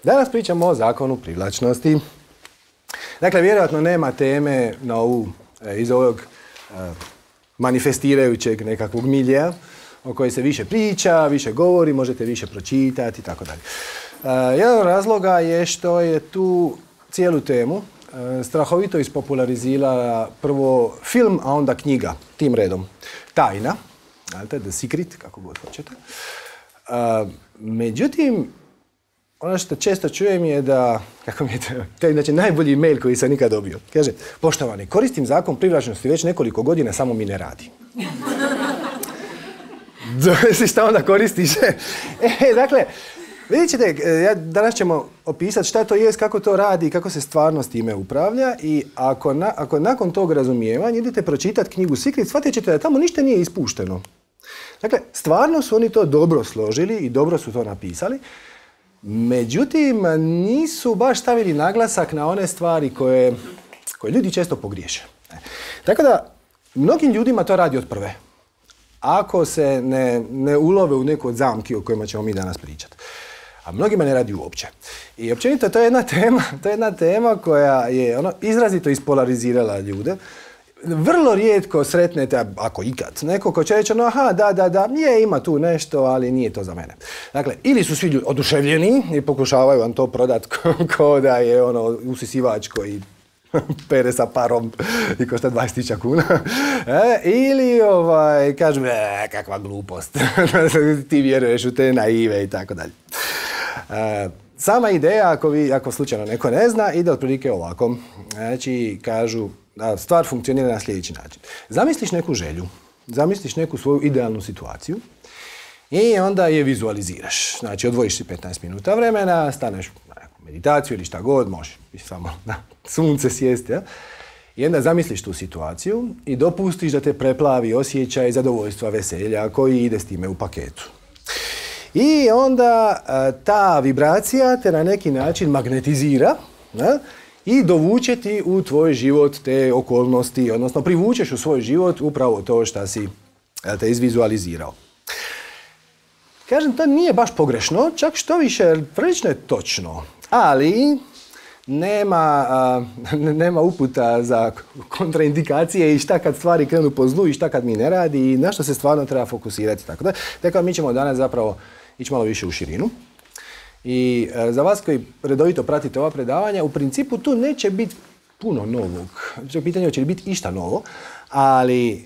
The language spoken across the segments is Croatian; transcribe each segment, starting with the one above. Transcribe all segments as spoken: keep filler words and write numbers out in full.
Danas pričamo o zakonu privlačnosti. Dakle, vjerojatno nema teme na ovu, iz ovog manifestirajućeg nekakvog miljeja o kojoj se više priča, više govori, možete više pročitati i tako dalje. Jedan od razloga je što je tu cijelu temu strahovito ispopularizirala prvo film, a onda knjiga, tim redom. Tajna, The Secret, kako god hoćete. Međutim, ono što često čujem je da, kako mi je to, to je znači najbolji mail koji sam nikad dobio. Kaže, poštovani, koristim zakon privlačnosti već nekoliko godina, samo mi ne radi. Šta onda koristiš? E, dakle, vidjet ćete, ja, danas ćemo opisati šta to jest, kako to radi, kako se stvarno s time upravlja i ako, na, ako nakon tog razumijevanja idete pročitati knjigu Secret, shvatit ćete da tamo ništa nije ispušteno. Dakle, stvarno su oni to dobro složili i dobro su to napisali, međutim, nisu baš stavili naglasak na one stvari koje, koje ljudi često pogriješe. Tako da, mnogim ljudima to radi od prve, ako se ne, ne ulove u neku od zamki o kojima ćemo mi danas pričati. A mnogima ne radi uopće. I općenito to je jedna tema, to je jedna tema koja je ono, izrazito ispolarizirala ljude. Vrlo rijetko sretnete, ako ikad, neko ko će reći, no aha, da, da, da, je, ima tu nešto, ali nije to za mene. Dakle, ili su svi ljudi oduševljeni i pokušavaju vam to prodati ko, ko da je ono usisivač koji pere sa parom i košta dvadeset tisuća kuna. E, ili ovaj, kažu, e, kakva glupost, ti vjeruješ u te naive i tako dalje. E, sama ideja, ako, vi, ako slučajno neko ne zna, ide otprilike ovako. Znači, kažu, da stvar funkcionira na sljedeći način. Zamisliš neku želju, zamisliš neku svoju idealnu situaciju i onda je vizualiziraš. Znači, odvojiš si petnaest minuta vremena, staneš na neku meditaciju ili šta god, možeš samo na sunce sjesti. Ja? I onda zamisliš tu situaciju i dopustiš da te preplavi osjećaj zadovoljstva, veselja koji ide s time u paketu. I onda ta vibracija te na neki način magnetizira, ja? I dovuče ti u tvoj život te okolnosti, odnosno privučeš u svoj život upravo to što si te izvizualizirao. Kažem, to nije baš pogrešno, čak što više, prilično je točno, ali nema, a, nema uputa za kontraindikacije i šta kad stvari krenu po zlu i šta kad mi ne radi i na što se stvarno treba fokusirati. Tako da, tako mi ćemo danas zapravo ići malo više u širinu. I e, za vas koji redovito pratite ova predavanja, u principu tu neće biti puno novog. Pitanje će li biti išta novo, ali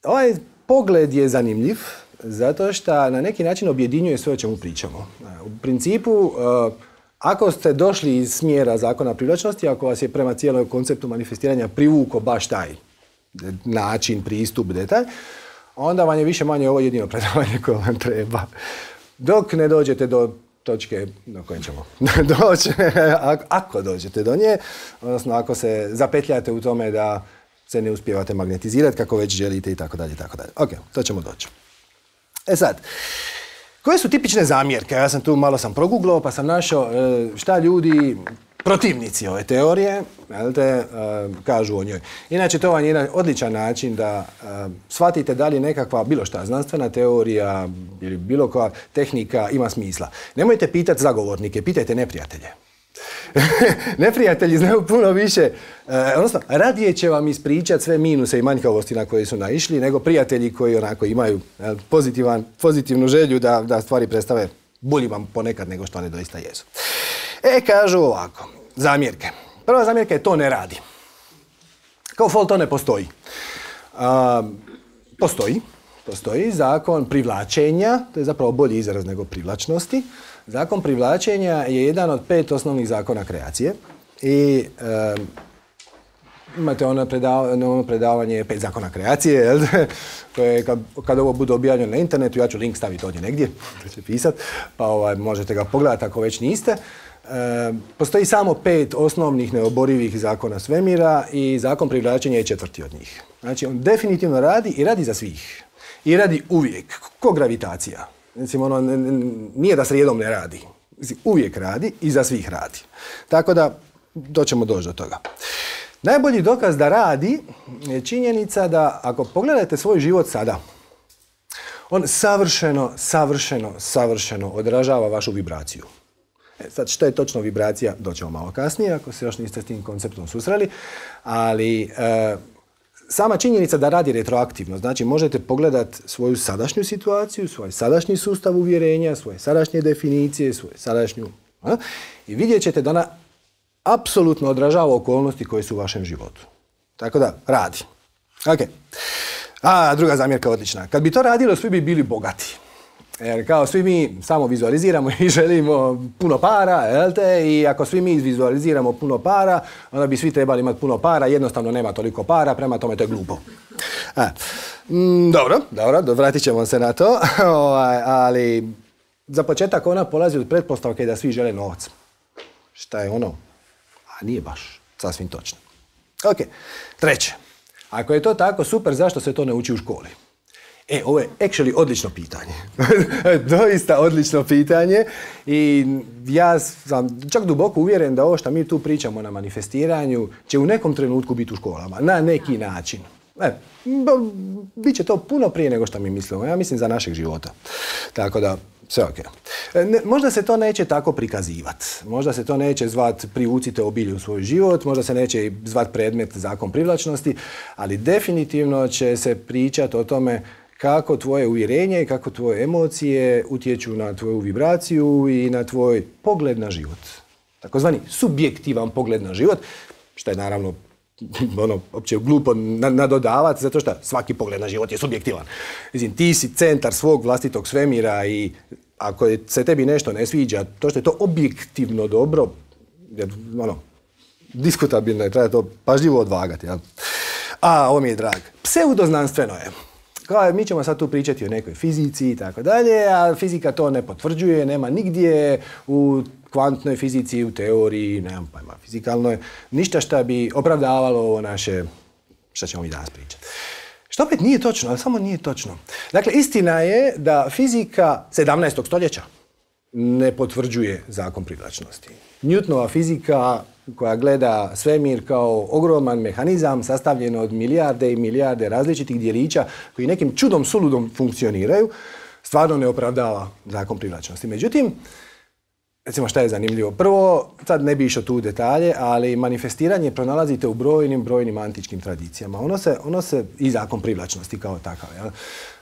ovaj pogled je zanimljiv zato što na neki način objedinjuje sve o čemu pričamo. U principu, e, ako ste došli iz smjera zakona privlačnosti, ako vas je prema cijelom konceptu manifestiranja privuko baš taj način, pristup, detalj, onda vam je više manje ovo jedino predavanje koje vam treba. Dok ne dođete do točke do koje ćemo doći, ako dođete do nje, odnosno ako se zapetljate u tome da se ne uspijevate magnetizirati kako već želite i tako dalje i tako dalje. Ok, to ćemo doći. E sad, koje su tipične zamjerke? Ja sam tu malo sam proguglao pa sam našao šta ljudi, protivnici ove teorije, jel te, kažu o njoj. Inače, to vam je jedan odličan način da shvatite da li nekakva bilo šta znanstvena teorija ili bilo koja tehnika ima smisla. Nemojte pitati zagovornike, pitajte neprijatelje. Neprijatelji znaju puno više, odnosno radije će vam ispričati sve minuse i manjkavosti na koje su naišli nego prijatelji koji onako imaju pozitivan, pozitivnu želju da, da stvari predstave bolji vam ponekad nego što one doista jesu. E, kažu ovako, zamjerke. Prva zamjerka je to ne radi. Kao fol to ne postoji. A, postoji. Postoji zakon privlačenja, to je zapravo bolji izraz nego privlačnosti. Zakon privlačenja je jedan od pet osnovnih zakona kreacije. I e, imate ono, predav, ono predavanje pet zakona kreacije, jel? Koje kad, kad ovo bude objavljeno na internetu, ja ću link staviti ovdje negdje, to će pisati, pa ovaj, možete ga pogledati ako već niste. E, postoji samo pet osnovnih neoborivih zakona svemira i zakon privlačenja je četvrti od njih. Znači, on definitivno radi i radi za svih. I radi uvijek, ko gravitacija. Mislim, ono, nije da srijedom ne radi. Uvijek radi i za svih radi. Tako da, doćemo doći do toga. Najbolji dokaz da radi je činjenica da ako pogledate svoj život sada, on savršeno, savršeno, savršeno odražava vašu vibraciju. E, sad, što je točno vibracija, doćemo malo kasnije, ako se još niste s tim konceptom susreli, ali e, sama činjenica da radi retroaktivno, znači možete pogledati svoju sadašnju situaciju, svoj sadašnji sustav uvjerenja, svoje sadašnje definicije, svoju sadašnju... A, i vidjet ćete da ona apsolutno odražava okolnosti koje su u vašem životu. Tako da, radi. Ok. A, druga zamjerka odlična. Kad bi to radilo, svi bi bili bogati. Jer kao svi mi samo vizualiziramo i želimo puno para, jel te? I ako svi mi vizualiziramo puno para, onda bi svi trebali imati puno para, jednostavno nema toliko para, prema tome to je glupo. A, mm, dobro, dobro, vratit ćemo se na to, ali za početak ona polazi od pretpostavke da svi žele novac. Šta je ono? A nije baš sasvim točno. Ok, treće. Ako je to tako, super, zašto se to ne uči u školi? E, ovo je actually odlično pitanje. Doista odlično pitanje i ja sam čak duboko uvjeren da ovo što mi tu pričamo na manifestiranju će u nekom trenutku biti u školama, na neki način. E, Biće to puno prije nego što mi mislimo, ja mislim za našeg života. Tako da, sve ok. Ne, možda se to neće tako prikazivati. Možda se to neće zvat privucite obilje u svoj život, možda se neće zvat predmet zakon privlačnosti, ali definitivno će se pričati o tome kako tvoje uvjerenje i kako tvoje emocije utječu na tvoju vibraciju i na tvoj pogled na život. Takozvani subjektivan pogled na život, što je naravno ono, opće glupo nadodavati, zato što svaki pogled na život je subjektivan. Mislim, ti si centar svog vlastitog svemira i ako se tebi nešto ne sviđa, to što je to objektivno dobro, jer, ono, diskutabilno je, treba to pažljivo odvagati. Ja. A, ovo mi je drag. Pseudoznanstveno je. Kao, mi ćemo sad tu pričati o nekoj fizici i tako dalje, a fizika to ne potvrđuje, nema nigdje u kvantnoj fizici, u teoriji, nemam pojma, fizikalnoj, ništa što bi opravdavalo ovo naše, što ćemo mi danas pričati. Što opet nije točno, ali samo nije točno. Dakle, istina je da fizika sedamnaestog stoljeća ne potvrđuje zakon privlačnosti. Newtonova fizika koja gleda svemir kao ogroman mehanizam sastavljen od milijarde i milijarde različitih dijelića koji nekim čudom suludom funkcioniraju, stvarno ne opravdava zakon privlačnosti. Međutim, recimo šta je zanimljivo? Prvo, sad ne bi išao tu u detalje, ali manifestiranje pronalazite u brojnim, brojnim antičkim tradicijama. Ono se, ono se i zakon privlačnosti kao takav. Jel?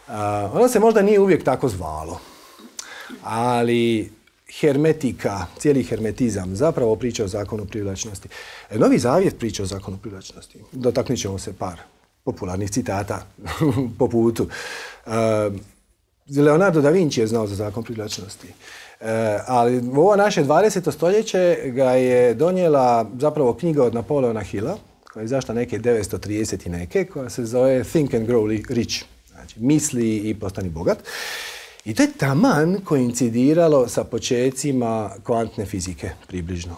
A, ono se možda nije uvijek tako zvalo, ali hermetika, cijeli hermetizam zapravo priča o zakonu privlačnosti. Novi Zavjet priča o zakonu privlačnosti. Dotaknut ćemo se par popularnih citata po putu. Uh, Leonardo da Vinci je znao za zakon privlačnosti. Uh, ali ovo naše dvadeseto stoljeće ga je donijela zapravo knjiga od Napoleona Hilla, koja je izašla neke devetsto trideset i neke, koja se zove Think and Grow Rich. Znači, misli i postani bogat. I to je taman koincidiralo sa počecima kvantne fizike, približno.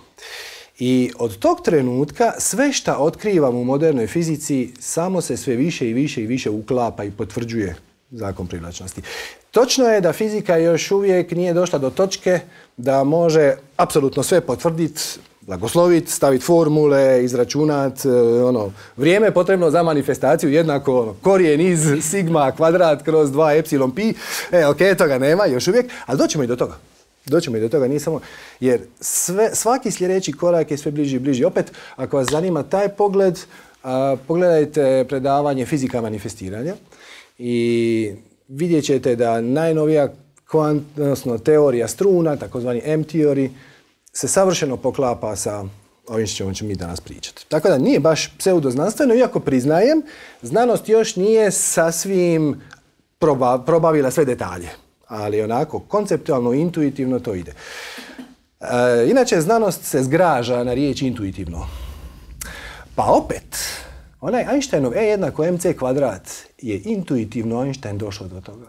I od tog trenutka sve što otkrivam u modernoj fizici samo se sve više i više i više uklapa i potvrđuje zakon privlačnosti. Točno je da fizika još uvijek nije došla do točke da može apsolutno sve potvrditi, blagosloviti, staviti formule, izračunati, ono, vrijeme potrebno za manifestaciju jednako ono, korijen iz sigma kvadrat kroz dva epsilon pi. E, ok, toga nema još uvijek, ali doćemo i do toga. Doćemo i do toga, nije samo, jer sve, svaki sljedeći korak je sve bliži i bliži. Opet, ako vas zanima taj pogled, a, pogledajte predavanje fizika manifestiranja i vidjet ćete da najnovija kvant, odnosno teorija struna, takozvani M-teorij, se savršeno poklapa sa ovim što ćemo mi danas pričati. Tako da nije baš pseudoznanstveno, iako priznajem, znanost još nije sasvim proba, probavila sve detalje. Ali onako, konceptualno, intuitivno to ide. E, inače, znanost se zgraža na riječ intuitivno. Pa opet, onaj Einsteinov E jednako mc kvadrat je intuitivno Einstein došao do toga.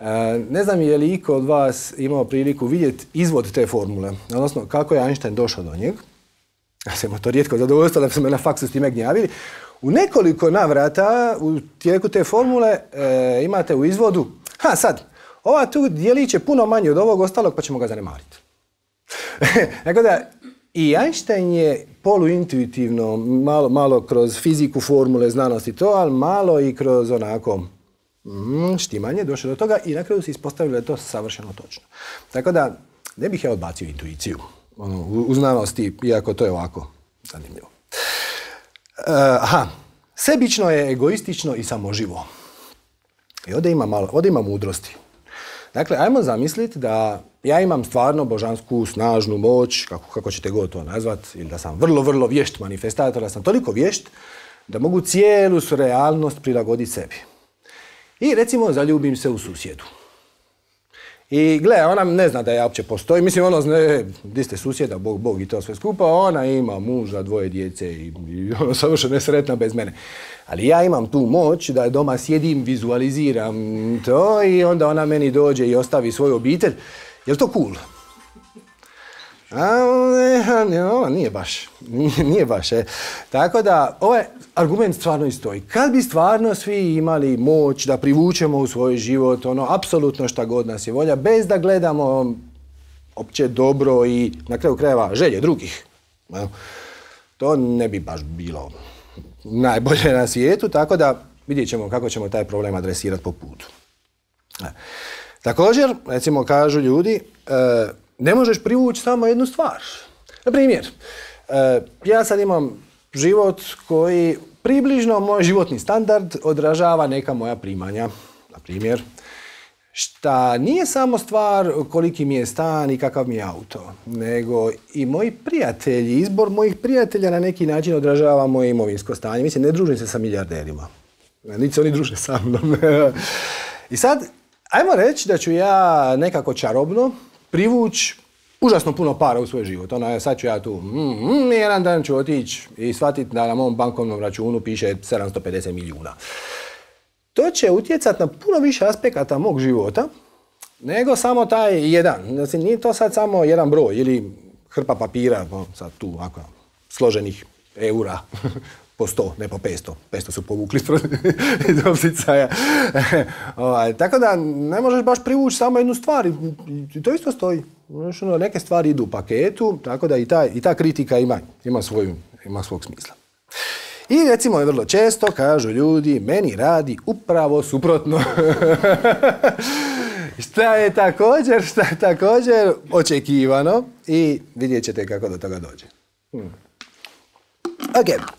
E, ne znam je li iko od vas imao priliku vidjeti izvod te formule, odnosno kako je Einstein došao do njeg. Ja sam to rijetko zadovoljstvo da su me na faksu s time gnjavili. U nekoliko navrata u tijeku te formule e, imate u izvodu, ha sad, ova tu dijelić je puno manje od ovog ostalog pa ćemo ga zanemariti. Tako da i Einstein je poluintuitivno, malo, malo kroz fiziku, formule, znanosti to, ali malo i kroz onako mm, štimanje došao do toga i na kraju se ispostavilo da je to savršeno točno. Tako da ne bih ja odbacio intuiciju. Ono, u, u znanosti, iako to je ovako zanimljivo. Uh, aha, sebično je egoistično i samoživo. I ovdje ima, malo, ovdje ima mudrosti. Dakle, ajmo zamisliti da ja imam stvarno božansku, snažnu moć, kako, kako ćete god to nazvati, ili da sam vrlo, vrlo vješt manifestator, da sam toliko vješt da mogu cijelu realnost prilagoditi sebi. I recimo zaljubim se u susjedu. I gle, ona ne zna da ja uopće postoji. Mislim, ono, ne, di ste susjeda, Bog, Bog i to sve skupa. Ona ima muža, dvoje djece i, i ono, savršeno nesretna bez mene. Ali ja imam tu moć da doma sjedim, vizualiziram to i onda ona meni dođe i ostavi svoju obitelj. Je li to cool? A, ne, nije baš. Nije, nije baš. E. Tako da, ovaj argument stvarno i stoji. Kad bi stvarno svi imali moć da privučemo u svoj život, ono, apsolutno šta god nas je volja, bez da gledamo opće dobro i na kraju krajeva želje drugih, to ne bi baš bilo najbolje na svijetu, tako da vidjet ćemo kako ćemo taj problem adresirati po putu. Također, recimo, kažu ljudi, ne možeš privući samo jednu stvar. Na primjer, ja sad imam život koji približno moj životni standard odražava neka moja primanja. Na primjer, šta nije samo stvar koliki mi je stan i kakav mi je auto, nego i moji prijatelji, izbor mojih prijatelja na neki način odražava moje imovinsko stanje. Mislim, ne družim se sa milijarderima. Niti se oni druže sa mnom. I sad, ajmo reći da ću ja nekako čarobno privući užasno puno para u svoj život. Ono, sad ću ja tu, mm, mm, jedan dan ću otići i shvatiti da na mom bankovnom računu piše sedamsto pedeset milijuna. To će utjecati na puno više aspekata mog života nego samo taj jedan. Znači, nije to sad samo jedan broj ili hrpa papira, sad tu ovako, složenih eura po sto, ne po petsto. petsto su povukli iz opsicaja. Tako da ne možeš baš privući samo jednu stvar i to isto stoji. Neke stvari idu u paketu, tako da i ta, i ta kritika ima, ima, svoju, ima svog smisla. I recimo vrlo često kažu ljudi, meni radi upravo suprotno. Šta je također, šta je također očekivano i vidjet ćete kako do toga dođe. Hmm. Ok.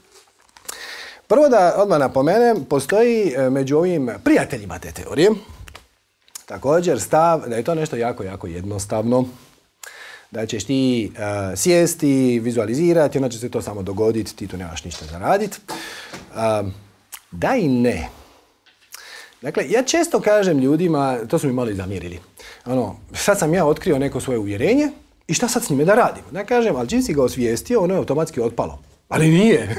Prvo da odmah napomenem, postoji među ovim prijateljima te teorije također stav da je to nešto jako, jako jednostavno. Da ćeš ti uh, sjesti, vizualizirati, onda će se to samo dogoditi, ti tu nemaš ništa za raditi. Uh, da i ne. Dakle, ja često kažem ljudima, to su mi malo i zamjerili, ono, sad sam ja otkrio neko svoje uvjerenje i šta sad s njime da radim? Da kažem, ali čim si ga osvijestio, ono je automatski otpalo. Ali nije.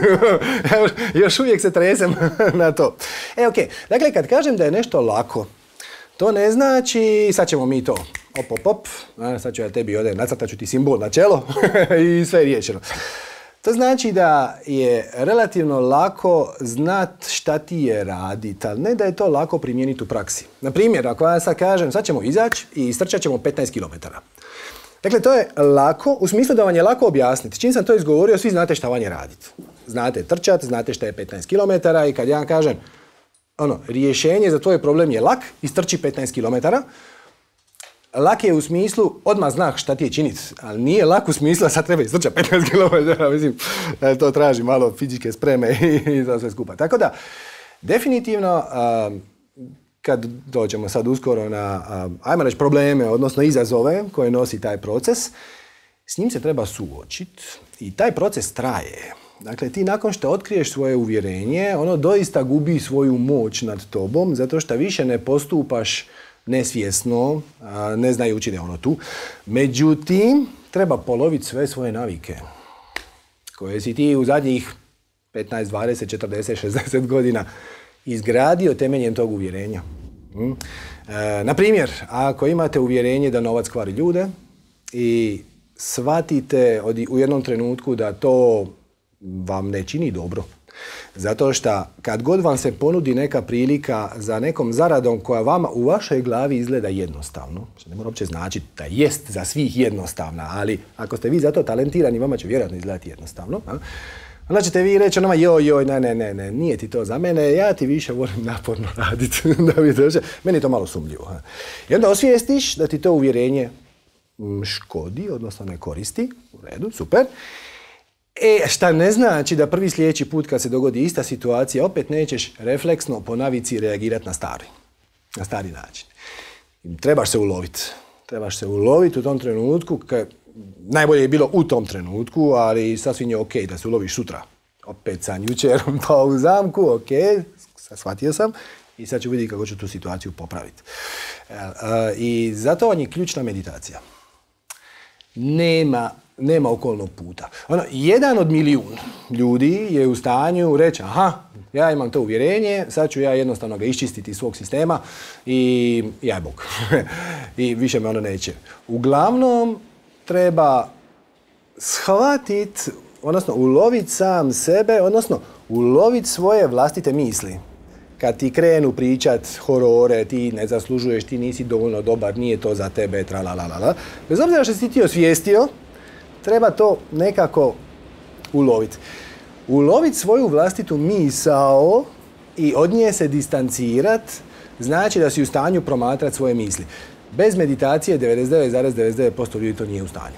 Još uvijek se tresem na to. E, ok. Dakle, kad kažem da je nešto lako, to ne znači, sad ćemo mi to, op, op, op, sad ću ja tebi ovdje, nacrtat ću ti simbol na čelo i sve je riješeno. To znači da je relativno lako znat šta ti je raditi, ali ne da je to lako primijeniti u praksi. Na primjer, ako ja sad kažem, sad ćemo izaći i istrčat ćemo petnaest kilometara. Dakle, to je lako, u smislu da vam je lako objasniti. Čim sam to izgovorio, svi znate šta vam je raditi. Znate trčati, znate šta je petnaest kilometara i kad ja kažem, ono, rješenje za tvoj problem je lak, istrči petnaest kilometara. Lak je u smislu, odmah znaš šta ti je činiti, ali nije lak u smislu da sad treba istrčati petnaest kilometara. Mislim, to traži malo fizičke spreme i za sve skupa. Tako da, definitivno, kad dođemo sad uskoro na, ajmo reći, probleme, odnosno izazove koje nosi taj proces, s njim se treba suočiti i taj proces traje. Dakle, ti nakon što otkriješ svoje uvjerenje, ono doista gubi svoju moć nad tobom, zato što više ne postupaš nesvjesno, ne znajući da je ono tu. Međutim, treba poloviti sve svoje navike koje si ti u zadnjih petnaest, dvadeset, četrdeset, šezdeset godina izgradio temeljem tog uvjerenja. Hmm. E, na primjer, ako imate uvjerenje da novac kvari ljude i shvatite od, u jednom trenutku da to vam ne čini dobro. Zato što kad god vam se ponudi neka prilika za nekom zaradom koja vama u vašoj glavi izgleda jednostavno, što ne mora uopće značiti da jest za svih jednostavna, ali ako ste vi za to talentirani, vama će vjerojatno izgledati jednostavno. A? Onda ćete vi reći onoma, joj, joj, ne, ne, ne, ne, nije ti to za mene, ja ti više volim naporno raditi da bi došao. Meni je to malo sumnjivo. A? I onda osvijestiš da ti to uvjerenje škodi, odnosno ne koristi. U redu, super. E, šta ne znači da prvi sljedeći put kad se dogodi ista situacija, opet nećeš refleksno po navici reagirati na stari. Na stari način. Trebaš se uloviti. Trebaš se uloviti u tom trenutku. Kad, najbolje je bilo u tom trenutku, ali sasvim je ok da se uloviš sutra. Opet sam jučer pao u zamku, ok, shvatio sam i sad ću vidjeti kako ću tu situaciju popraviti. I zato vam je ključna meditacija. Nema, nema okolnog puta. Ono, jedan od milijun ljudi je u stanju reći, aha, ja imam to uvjerenje, sad ću ja jednostavno ga iščistiti iz svog sistema i jaj Bog. I više me ono neće. Uglavnom, treba shvatiti, odnosno uloviti sam sebe, odnosno uloviti svoje vlastite misli. Kad ti krenu pričat horore, ti ne zaslužuješ, ti nisi dovoljno dobar, nije to za tebe, tralalala. Bez obzira što si ti osvijestio, treba to nekako uloviti. Uloviti svoju vlastitu misao i od nje se distancirat, znači da si u stanju promatrati svoje misli. Bez meditacije devedeset devet zarez devedeset devet posto ljudi to nije u stanju.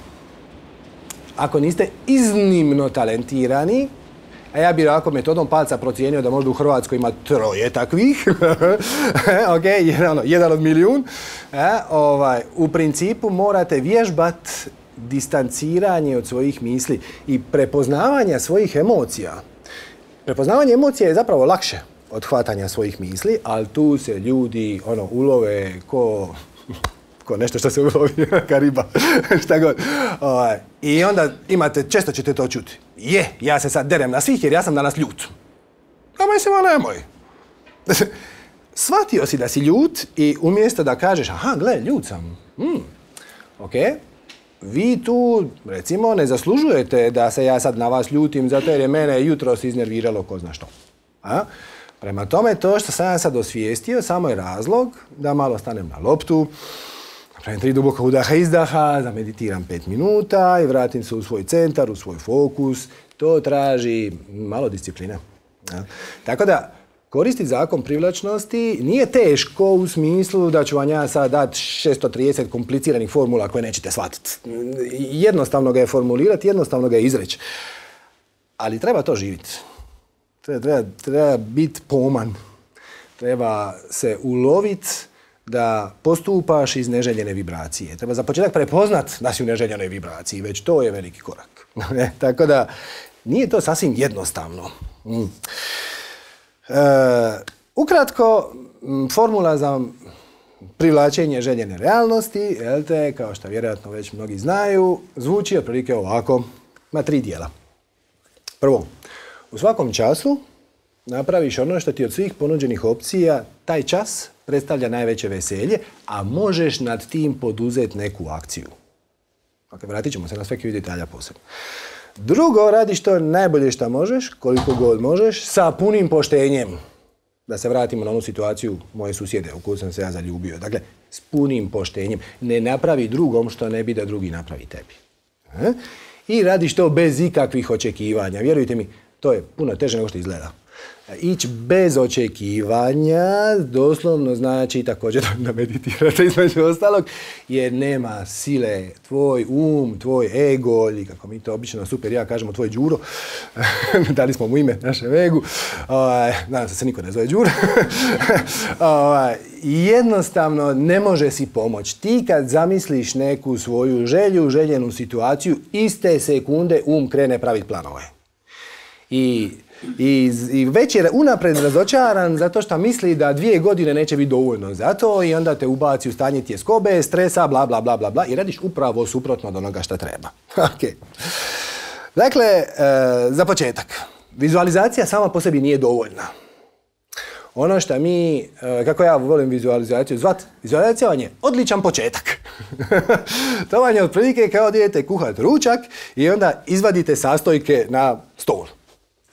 Ako niste iznimno talentirani, a ja bih ovako metodom palca procijenio da možda u Hrvatskoj ima troje takvih, ok, jedan, jedan od milijun, e, ovaj, u principu morate vježbat distanciranje od svojih misli i prepoznavanja svojih emocija. Prepoznavanje emocija je zapravo lakše od hvatanja svojih misli, ali tu se ljudi ono, ulove ko... ko nešto što se ulovi, ka riba, šta god. O, I onda imate, često ćete to čuti. Je, ja se sad derem na svih jer ja sam danas ljut. A mislim, a nemoj. Shvatio si da si ljut i umjesto da kažeš, aha, gle, ljut sam. Mm. Ok, vi tu, recimo, ne zaslužujete da se ja sad na vas ljutim zato jer je mene jutros iznerviralo ko zna što. A? Prema tome, to što sam ja sad osvijestio, samo je razlog da malo stanem na loptu, napravim tri duboka udaha izdaha, zameditiram pet minuta i vratim se u svoj centar, u svoj fokus. To traži malo discipline. Ja. Tako da, koristiti zakon privlačnosti nije teško u smislu da ću vam ja sad dati šesto trideset kompliciranih formula koje nećete shvatiti. Jednostavno ga je formulirati, jednostavno ga je izreći. Ali treba to živjeti. Treba, treba, treba biti poman. Treba se uloviti da postupaš iz neželjene vibracije. Treba za početak prepoznat da si u neželjenoj vibraciji. Već to je veliki korak. Tako da, nije to sasvim jednostavno. Mm. E, ukratko, formula za privlačenje željene realnosti, jel te, kao što vjerojatno već mnogi znaju, zvuči otprilike ovako. Ima tri dijela. Prvo, u svakom času napraviš ono što ti od svih ponuđenih opcija taj čas predstavlja najveće veselje, a možeš nad tim poduzeti neku akciju. Ok, vratit ćemo se na svaki detalja posebno. Drugo, radiš to najbolje što možeš, koliko god možeš, sa punim poštenjem. Da se vratimo na onu situaciju moje susjede u koju sam se ja zaljubio. Dakle, s punim poštenjem. Ne napravi drugom što ne bi da drugi napravi tebi. E? I radiš to bez ikakvih očekivanja. Vjerujte mi, to je puno teže nego što izgleda. Ići bez očekivanja doslovno znači također da meditirate između ostalog, jer nema sile. Tvoj um, tvoj ego, ili kako mi to obično super ja kažemo, tvoj Đuro, dali smo mu ime našem egu, nadam se se niko ne zove Đuro, jednostavno ne može si pomoći. Ti kad zamisliš neku svoju želju, željenu situaciju, iste sekunde um krene praviti planove. I I, I već je unapred razočaran zato što misli da dvije godine neće biti dovoljno za to i onda te ubaci u stanje tjeskobe, stresa, bla, bla, bla, bla, bla i radiš upravo suprotno od onoga što treba. Okay. Dakle, e, za početak, vizualizacija sama po sebi nije dovoljna. Ono što mi, e, kako ja volim vizualizaciju zvat, vizualizacija vam je odličan početak. To vam je otprilike kao da idete kuhati ručak i onda izvadite sastojke na stol.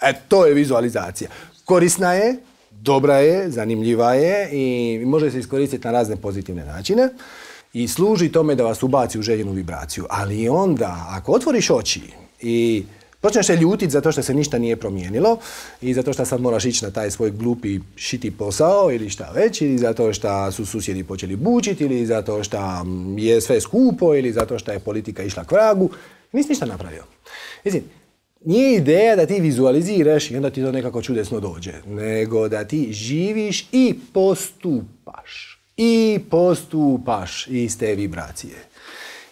E, to je vizualizacija. Korisna je, dobra je, zanimljiva je i može se iskoristiti na razne pozitivne načine i služi tome da vas ubaci u željenu vibraciju. Ali onda, ako otvoriš oči i Počneš se ljutiti zato što se ništa nije promijenilo i zato što sad moraš ići na taj svoj glupi šiti posao ili šta već, ili zato što su susjedi počeli bučiti, ili zato što je sve skupo, ili zato što je politika išla k vragu. Nisi ništa napravio. Mislim, nije ideja da ti vizualiziraš i onda ti to nekako čudesno dođe, nego da ti živiš i postupaš. I postupaš iz te vibracije.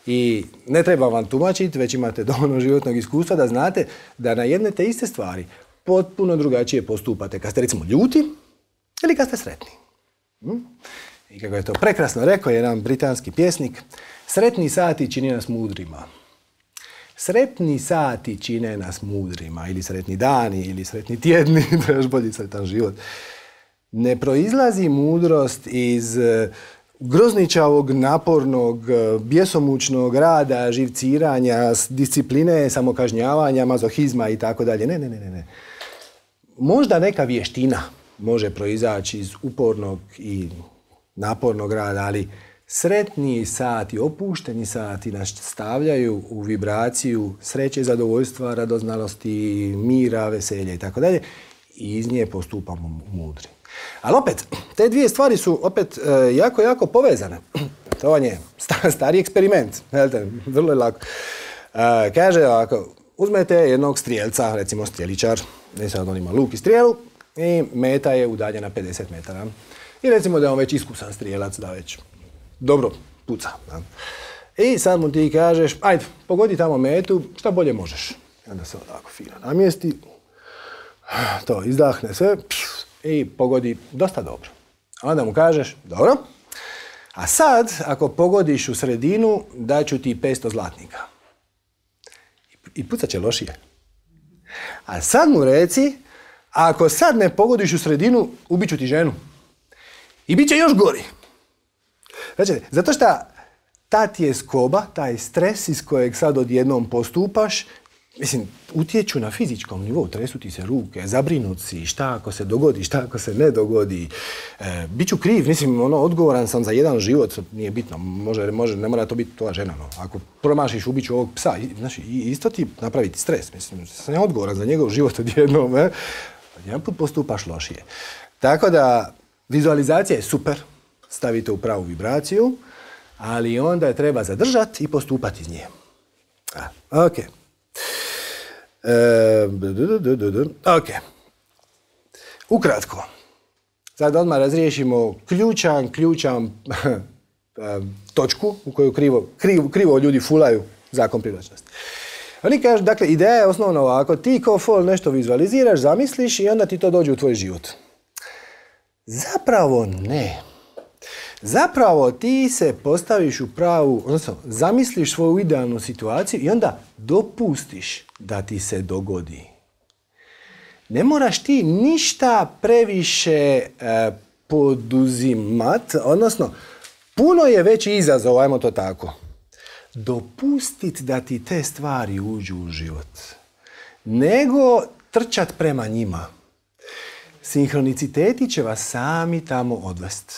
I ne treba vam tumačiti, već imate dovoljno životnog iskustva da znate da na jedne te iste stvari potpuno drugačije postupate kad ste recimo ljuti ili kad ste sretni. I kako je to prekrasno rekao jedan britanski pjesnik, sretni sati čini nas mudrima. Sretni sati čine nas mudrima, ili sretni dani, ili sretni tjedni, da je još bolji sretan život. Ne proizlazi mudrost iz grozničavog, napornog, bjesomučnog rada, živciranja, discipline, samokažnjavanja, mazohizma i tako dalje. Ne, ne, ne, ne. Možda neka vještina može proizaći iz upornog i napornog rada, ali sretni sati, opušteni sati nas stavljaju u vibraciju sreće, zadovoljstva, radoznalosti, mira, veselja i tako dalje. I iz nje postupamo mudri. Ali opet, te dvije stvari su opet e, jako, jako povezane. To vam je stari eksperiment. Vrlo je lako. E, kaže ovako, uzmete jednog strijelca, recimo strijeličar, ne sad on ima luk i strijelu, i meta je udaljena pedeset metara. I recimo da je on već iskusan strijelac, da već dobro puca. Da. I sad mu ti kažeš, ajde, pogodi tamo metu, šta bolje možeš. I onda se ovako fino namjesti, to izdahne sve, i pogodi dosta dobro. A onda mu kažeš, dobro, a sad, ako pogodiš u sredinu, daću ti petsto zlatnika. I pucat će lošije. A sad mu reci, ako sad ne pogodiš u sredinu, ubit ću ti ženu. I bit će još gori. Znači, zato što ta ti je skoba, taj stres iz kojeg sad odjednom postupaš, mislim, utječu na fizičkom nivou, tresu ti se ruke, zabrinut si, šta ako se dogodi, šta ako se ne dogodi. E, Biću kriv, mislim, ono, odgovoran sam za jedan život, nije bitno, može, može, ne mora to biti tvoja žena, no. Ako promašiš, ubiću ovog psa, znači, isto ti napraviti stres, mislim, sam ja odgovoran za njegov život odjednom, e? Jedan put postupaš lošije. Tako da, vizualizacija je super, stavite u pravu vibraciju, ali onda je treba zadržati i postupati iz nje. A, ok. E, ok. Ukratko. Sad odmah razriješimo ključan, ključan točku u koju krivo, krivo, krivo ljudi fulaju zakon privlačnosti. Oni kažu, dakle, ideja je osnovno ovako, ti ko fol nešto vizualiziraš, zamisliš i onda ti to dođe u tvoj život. Zapravo ne. Zapravo ti se postaviš u pravu, odnosno zamisliš svoju idealnu situaciju i onda dopustiš da ti se dogodi. Ne moraš ti ništa previše e, poduzimat, odnosno puno je veći izazov, ajmo to tako. Dopustit da ti te stvari uđu u život, nego trčat prema njima. Sinhroniciteti će vas sami tamo odvesti.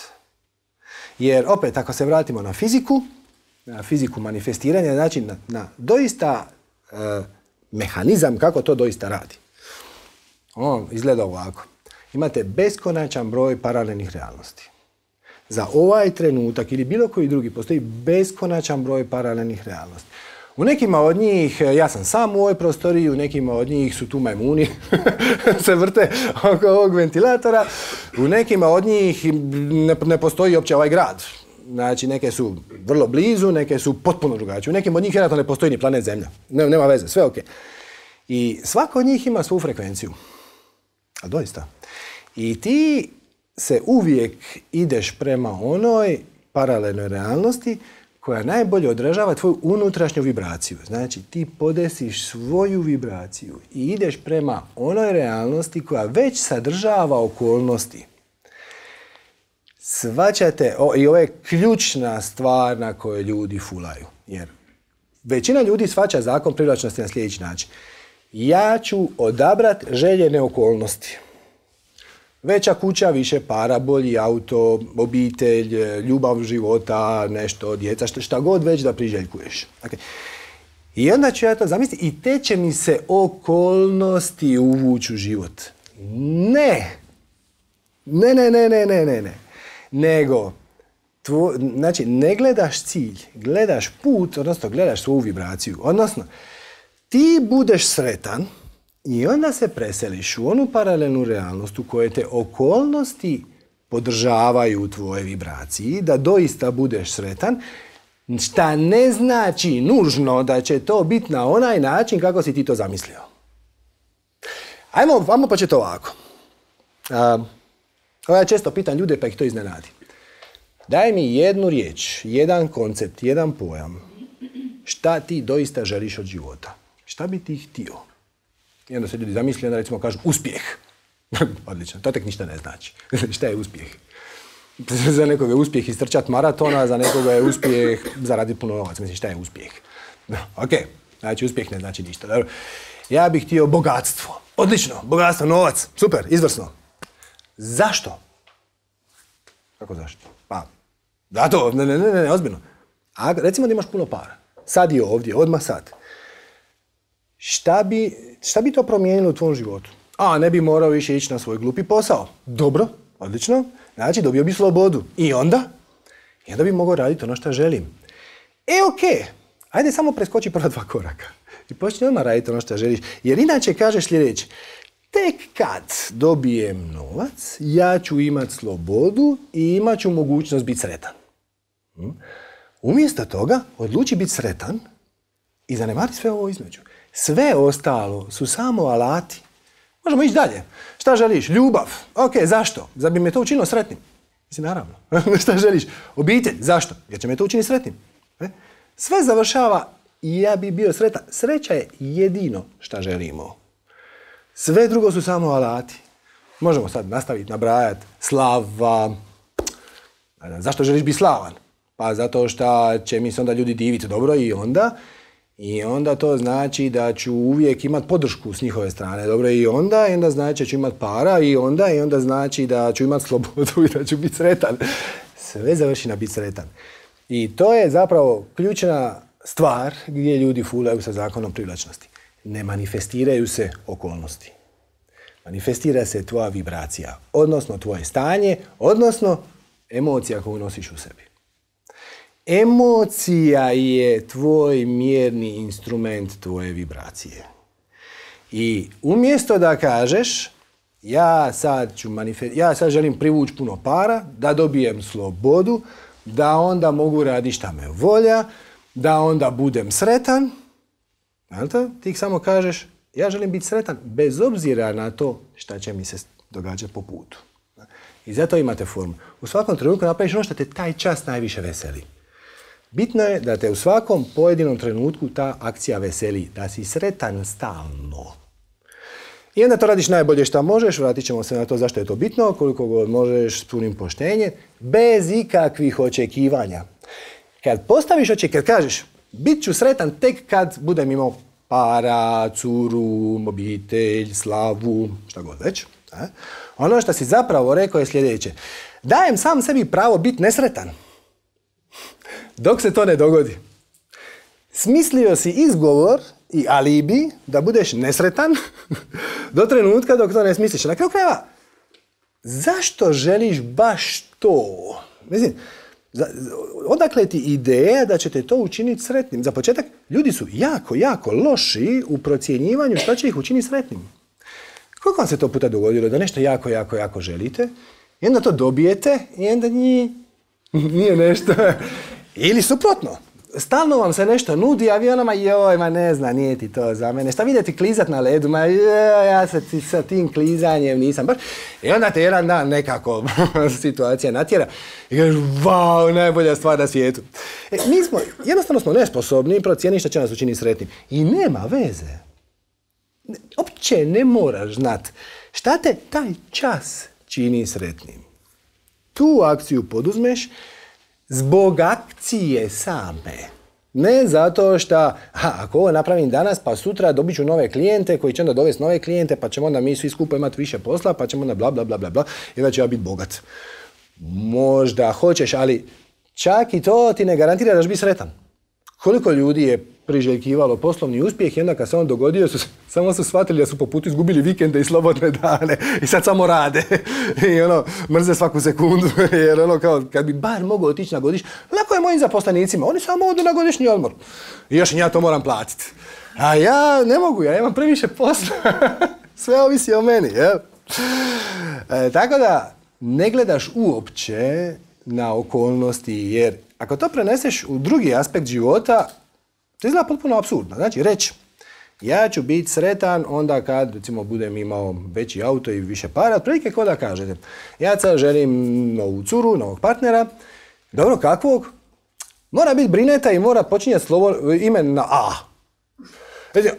Jer, opet, ako se vratimo na fiziku, na fiziku manifestiranja, znači na, na doista e, mehanizam kako to doista radi. On izgleda ovako. Imate beskonačan broj paralelnih realnosti. Za ovaj trenutak ili bilo koji drugi postoji beskonačan broj paralelnih realnosti. U nekima od njih, ja sam sam u ovoj prostoriji, u nekima od njih su tu majmuni, se vrte oko ovog ventilatora, u nekima od njih ne, ne postoji uopće ovaj grad. Znači, neke su vrlo blizu, neke su potpuno drugačije. U nekim od njih vjerojatno ne postoji ni planet Zemlja. Ne, nema veze, sve ok. I svako od njih ima svoju frekvenciju. A doista. I ti se uvijek ideš prema onoj paralelnoj realnosti koja najbolje odražava tvoju unutrašnju vibraciju. Znači, ti podesiš svoju vibraciju i ideš prema onoj realnosti koja već sadržava okolnosti. Shvaćate, o, i ovo je ključna stvar na kojoj ljudi fulaju. Jer većina ljudi shvaća zakon privlačnosti na sljedeći način. Ja ću odabrat željene okolnosti. Veća kuća, više para, bolji auto, obitelj, ljubav života, nešto, djeca, šta god već da priželjkuješ. Okay. I onda ću ja to zamisliti i te će mi se okolnosti uvući u život. Ne. Ne, ne, ne, ne, ne, ne, ne. Nego, tvo, znači, ne gledaš cilj, gledaš put, odnosno gledaš svoju vibraciju. Odnosno, ti budeš sretan i onda se preseliš u onu paralelnu realnost u kojoj te okolnosti podržavaju u tvojoj vibraciji, da doista budeš sretan, šta ne znači nužno da će to biti na onaj način kako si ti to zamislio. Ajmo, ajmo početi ovako. A, ja često pitam ljude pa ih to iznenadi. Daj mi jednu riječ, jedan koncept, jedan pojam. Šta ti doista želiš od života? Šta bi ti htio? I onda se ljudi zamisli, onda recimo kažu uspjeh. Odlično, to tek ništa ne znači. Šta je uspjeh? Za nekoga je uspjeh istrčati maratona, za nekoga je uspjeh zaraditi puno novaca. Mislim, šta je uspjeh? Ok, znači uspjeh ne znači ništa. Dobro. Ja bih htio bogatstvo. Odlično, bogatstvo, novac, super, izvrsno. Zašto? Kako zašto? Pa, zato, ne, ne, ne, ne, ozbiljno. A recimo da imaš puno para. Sad je ovdje, odmah sad. Šta bi, šta bi to promijenilo u tvom životu? A, ne bi morao više ići na svoj glupi posao. Dobro, odlično. Znači, dobio bi slobodu. I onda? I onda bi mogao raditi ono što želim. E, okej. Okay. Ajde samo preskoči prva dva koraka. I počni odmah raditi ono što želiš. Jer inače kažeš sljedeće. Tek kad dobijem novac, ja ću imati slobodu i imat ću mogućnost biti sretan. Hm? Umjesto toga, odluči biti sretan i zanemari sve ovo između. Sve ostalo su samo alati. Možemo ići dalje. Šta želiš? Ljubav. Ok, zašto? Zar bi me to učinilo sretnim? Mislim, naravno. Šta želiš? Obitelj. Zašto? Jer će me to učiniti sretnim. E? Sve završava i ja bi bio sretan. Sreća je jedino šta želimo. Sve drugo su samo alati. Možemo sad nastaviti nabrajati. Slava. Zašto želiš biti slavan? Pa zato što će mi se onda ljudi diviti dobro i onda... I onda to znači da ću uvijek imati podršku s njihove strane. Dobro, i onda, i onda znači da ću imati para, i onda, i onda znači da ću imati slobodu i da ću biti sretan. Sve završi na biti sretan. I to je zapravo ključna stvar gdje ljudi fulaju sa zakonom privlačnosti. Ne manifestiraju se okolnosti. Manifestira se tvoja vibracija, odnosno tvoje stanje, odnosno emocija koju nosiš u sebi. Emocija je tvoj mjerni instrument tvoje vibracije. I umjesto da kažeš ja sad, ću manifest... ja sad želim privući puno para, da dobijem slobodu, da onda mogu raditi šta me volja, da onda budem sretan, znate? Ti samo kažeš ja želim biti sretan bez obzira na to šta će mi se događati po putu. I zato imate formu. U svakom trenutku napraviš ono što te taj čas najviše veseli. Bitno je da te u svakom pojedinom trenutku ta akcija veseli, da si sretan stalno. I onda to radiš najbolje što možeš, vratit ćemo se na to zašto je to bitno, koliko god možeš s punim poštenjem, bez ikakvih očekivanja. Kad postaviš očekivanje, kad kažeš bit ću sretan tek kad budem imao para, curu, obitelj, slavu, šta god već. A? Ono što si zapravo rekao je sljedeće. Dajem sam sebi pravo biti nesretan. Dok se to ne dogodi. Smislio si izgovor i alibi da budeš nesretan do trenutka dok to ne smisliš. Na kraju krajeva, zašto želiš baš to? Mislim, odakle ti ideja da će te to učiniti sretnim? Za početak, ljudi su jako, jako loši u procjenjivanju što će ih učiniti sretnim. Koliko vam se to puta dogodilo da nešto jako, jako, jako želite i onda to dobijete i onda nije, nije nešto... Ili suprotno, stalno vam se nešto nudi, a vi onama, joj, ma ne zna, nije ti to za mene. Šta vidjeti klizat na ledu, ma joj, ja se ti, sa tim klizanjem nisam baš. I onda te jedan dan nekako situacija natjera i kažeš, vau, najbolja stvar na svijetu. E, mi smo, jednostavno smo nesposobni procijeniti što će nas učiniti sretnim. I nema veze. Opće ne moraš znat šta te taj čas čini sretnim. Tu akciju poduzmeš zbog akcije same. Ne zato što, ha, ako ovo napravim danas, pa sutra dobit ću nove klijente koji će onda dovesti nove klijente, pa ćemo onda mi svi skupo imati više posla, pa ćemo onda bla, bla, bla, bla, bla, i onda ću ja biti bogat. Možda hoćeš, ali čak i to ti ne garantira da ćeš biti sretan. Koliko ljudi je priželjkivalo poslovni uspjeh i onda kad se on dogodio, su, samo su shvatili da su po putu izgubili vikende i slobodne dane i sad samo rade i ono, mrze svaku sekundu jer ono kao, kad bi bar mogao otići na godišnji, lako je mojim zaposlenicima, oni samo odu na godišnji odmor i još ja to moram platiti. A ja ne mogu, ja imam previše posla, sve ovisi o meni, jel? E, tako da, ne gledaš uopće na okolnosti, jer ako to preneseš u drugi aspekt života, to izgleda potpuno apsurdno. Znači, reći, ja ću biti sretan onda kad, recimo, budem imao veći auto i više para, otprilike kao da kažete, ja sad želim novu curu, novog partnera, dobro, kakvog? Mora biti brineta i mora počinjati slovo, ime na A. Znači,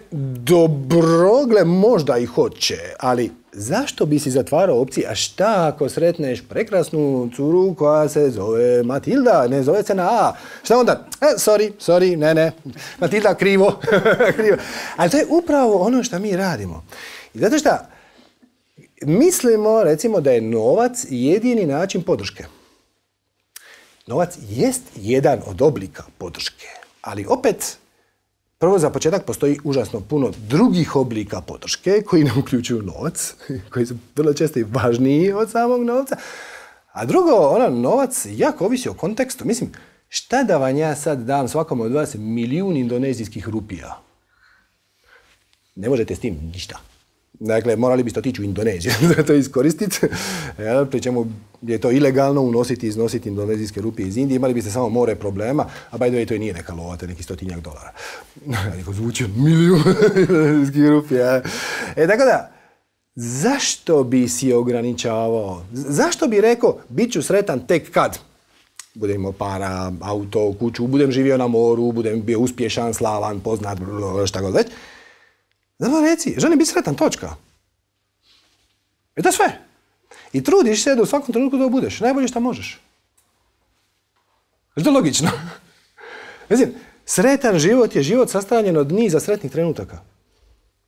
dobro, gle, možda i hoće, ali zašto bi si zatvarao opcije? A šta ako sretneš prekrasnu curu koja se zove Matilda, ne zove se na A? Šta onda? E, sorry, sorry, ne, ne, Matilda, krivo. krivo. Ali to je upravo ono što mi radimo. I zato što mislimo, recimo, da je novac jedini način podrške. Novac jest jedan od oblika podrške, ali opet, prvo, za početak, postoji užasno puno drugih oblika podrške koji ne uključuju novac, koji su vrlo često i važniji od samog novca. A drugo, ono, novac jako ovisi o kontekstu. Mislim, šta da vam ja sad dam svakom od vas milijun indonezijskih rupija? Ne možete s tim ništa. Dakle, morali biste otići u Indoneziju da to iskoristiti. Ja, pri čemu je to ilegalno unositi i iznositi indonezijske rupije iz Indije. Imali biste samo more problema, a by the way, to i nije neka lova, to je neki stotinjak dolara. Neko zvuči milijun indonezijskih rupija. E, tako da, zašto bi si ograničavao? Zašto bi rekao, bit ću sretan tek kad? Budem imao para, auto, kuću, budem živio na moru, budem bio uspješan, slavan, poznat, šta god već. Zato reci, želim biti sretan, točka. I to je sve. I trudiš se da u svakom trenutku to budeš. Najbolje što možeš. Je to logično? Mislim, sretan život je život sastavljen od niza sretnih trenutaka.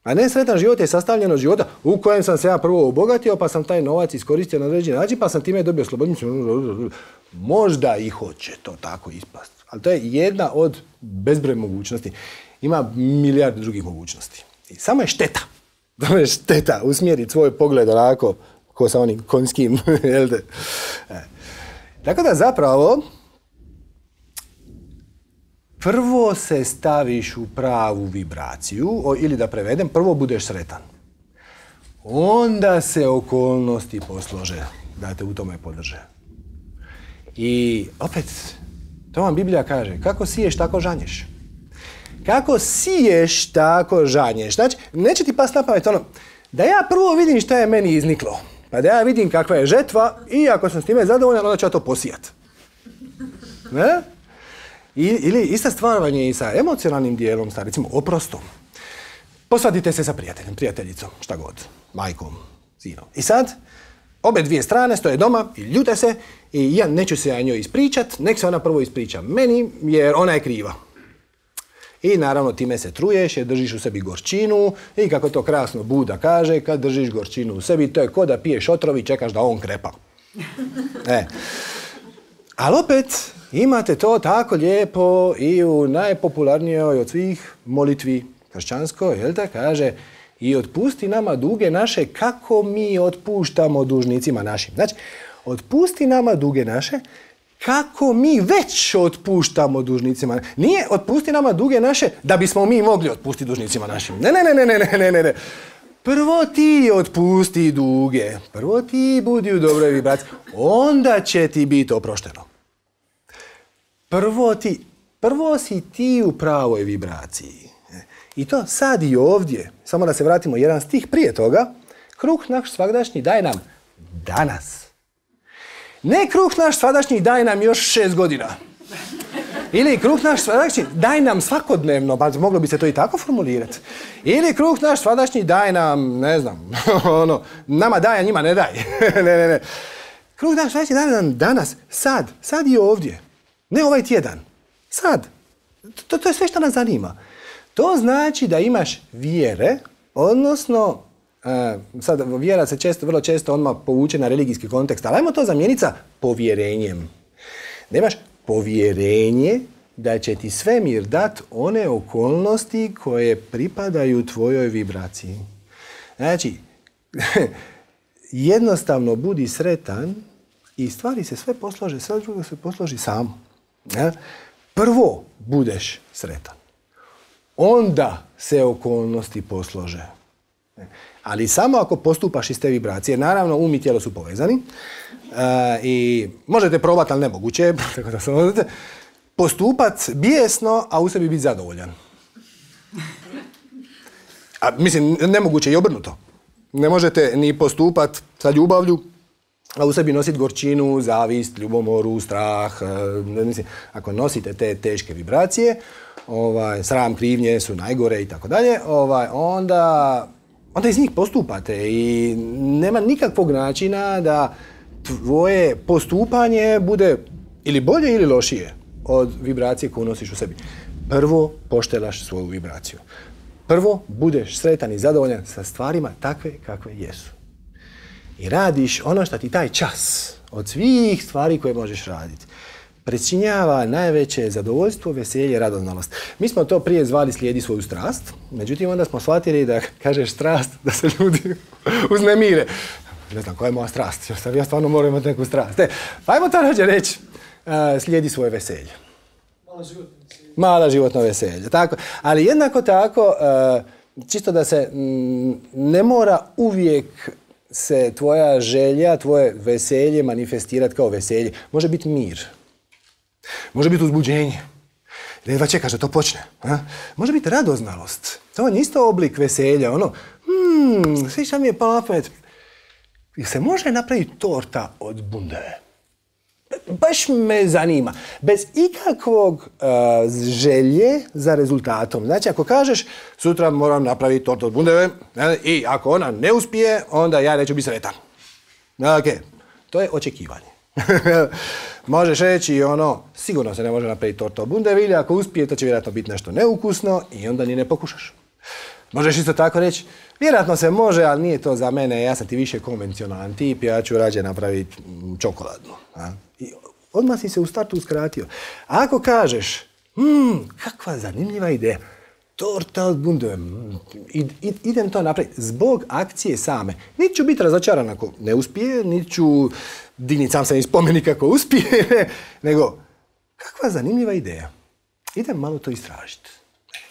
A ne sretan život je sastavljen od života u kojem sam se ja prvo obogatio, pa sam taj novac iskoristio na određeni način, pa sam time dobio slobodu. Možda i hoće to tako ispast. Ali to je jedna od bezbroj mogućnosti. Ima milijarde drugih mogućnosti. I samo je šteta. Samo je šteta usmjeriti svoj pogled onako ko sa onim konjskim. e. Tako da zapravo prvo se staviš u pravu vibraciju, o, ili da prevedem, prvo budeš sretan. Onda se okolnosti poslože da te u tome podrže. I opet, to vam Biblija kaže, kako siješ, tako žanješ. Kako siješ, tako žanješ. Znači, neće ti past na pamet ono, da ja prvo vidim šta je meni izniklo. Pa da ja vidim kakva je žetva i ako sam s time zadovoljan, onda ću ja to posijat. Ne? I, ili ista stvar vam je i sa emocionalnim dijelom, sa recimo oprostom. Posvadite se sa prijateljem, prijateljicom, šta god, majkom, sinom. I sad, obe dvije strane stoje doma i ljute se i ja neću se ja njoj ispričat, nek se ona prvo ispriča meni jer ona je kriva. I naravno time se truješ jer držiš u sebi gorčinu i kako to krasno Buda kaže, kad držiš gorčinu u sebi, to je ko da piješ otrov i čekaš da on krepa. E. Ali opet imate to tako lijepo i u najpopularnijoj od svih molitvi kršćanskoj, jel da kaže i otpusti nama duge naše kako mi otpuštamo dužnicima našim. Znači, otpusti nama duge naše kako mi već otpuštamo dužnicima. Nije otpusti nama duge naše da bismo mi mogli otpustiti dužnicima našim. Ne, ne, ne, ne, ne, ne, ne. Prvo ti otpusti duge. Prvo ti budi u dobroj vibraciji. Onda će ti biti oprošteno. Prvo ti, prvo si ti u pravoj vibraciji. I to sad i ovdje. Samo da se vratimo jedan stih prije toga. Kruh naš svagdašnji daj nam danas. Ne kruh naš svagdašnji daj nam još šest godina. Ili kruh naš svagdašnji daj nam svakodnevno, pa moglo bi se to i tako formulirati. Ili kruh naš svagdašnji daj nam, ne znam, ono, nama daj, a njima ne daj. ne, ne, ne. Kruh naš svagdašnji daj nam danas, sad, sad i ovdje. Ne ovaj tjedan. Sad. To, to je sve što nas zanima. To znači da imaš vjere, odnosno, uh, sad vjera se često, vrlo često odmah povuče na religijski kontekst, ali ajmo to zamijeniti sa povjerenjem. Da imaš povjerenje da će ti svemir dat one okolnosti koje pripadaju tvojoj vibraciji. Znači, jednostavno budi sretan i stvari se sve poslože, sve drugo se posloži samo. Ja? Prvo budeš sretan. Onda se okolnosti poslože. Ali samo ako postupaš iz te vibracije. Naravno, um i tijelo su povezani. Uh, I možete probati, ali nemoguće. Tako da sam postupat bijesno, a u sebi biti zadovoljan. A, mislim, nemoguće i obrnuto. Ne možete ni postupat sa ljubavlju, a u sebi nositi gorčinu, zavist, ljubomoru, strah. Uh, mislim, ako nosite te teške vibracije, ovaj, sram, krivnje su najgore i tako dalje, ovaj, onda, onda iz njih postupate i nema nikakvog načina da tvoje postupanje bude ili bolje ili lošije od vibracije koju nosiš u sebi. Prvo poštelaš svoju vibraciju. Prvo budeš sretan i zadovoljan sa stvarima takve kakve jesu. I radiš ono što ti taj čas od svih stvari koje možeš raditi pričinjava najveće zadovoljstvo, veselje, radoznalost. Mi smo to prije zvali slijedi svoju strast, međutim onda smo shvatili da kažeš strast, da se ljudi uznemire. Ne znam, koja je moja strast? Ja stvarno moram imati neku strast. E, pa ajmo to rađe reći, uh, slijedi svoje veselje. Mala životno veselje. Mala životno veselje, tako. Ali jednako tako, uh, čisto da se m, ne mora uvijek se tvoja želja, tvoje veselje manifestirati kao veselje. Može biti mir. Može biti uzbuđenje. Jedva čekaš da to počne. A? Može biti radoznalost. To je isto oblik veselja. Ono, hmm, svi šta mi je palo na pamet. Se može napraviti torta od bundeve? Baš me zanima. Bez ikakvog uh, želje za rezultatom. Znači, ako kažeš, sutra moram napraviti tortu od bundeve, ne, i ako ona ne uspije, onda ja neću biti sretan. Ok, to je očekivanje. Možeš reći ono, sigurno se ne može napraviti torta od bundeve, ili ako uspije, to će vjerojatno biti nešto neukusno i onda ni ne pokušaš. Možeš isto tako reći, vjerojatno se može, ali nije to za mene, ja sam ti više konvencionalan tip, ja ću rađe napraviti čokoladnu. A? I odmah si se u startu uskratio. A ako kažeš, hmm, kakva zanimljiva ideja, torta od bundeve, id, id, idem to napraviti zbog akcije same. Niti ću biti razočaran ako ne uspije, niti ću digniti sam se iz spomenika ako uspije, nego kakva zanimljiva ideja. Idem malo to istražiti.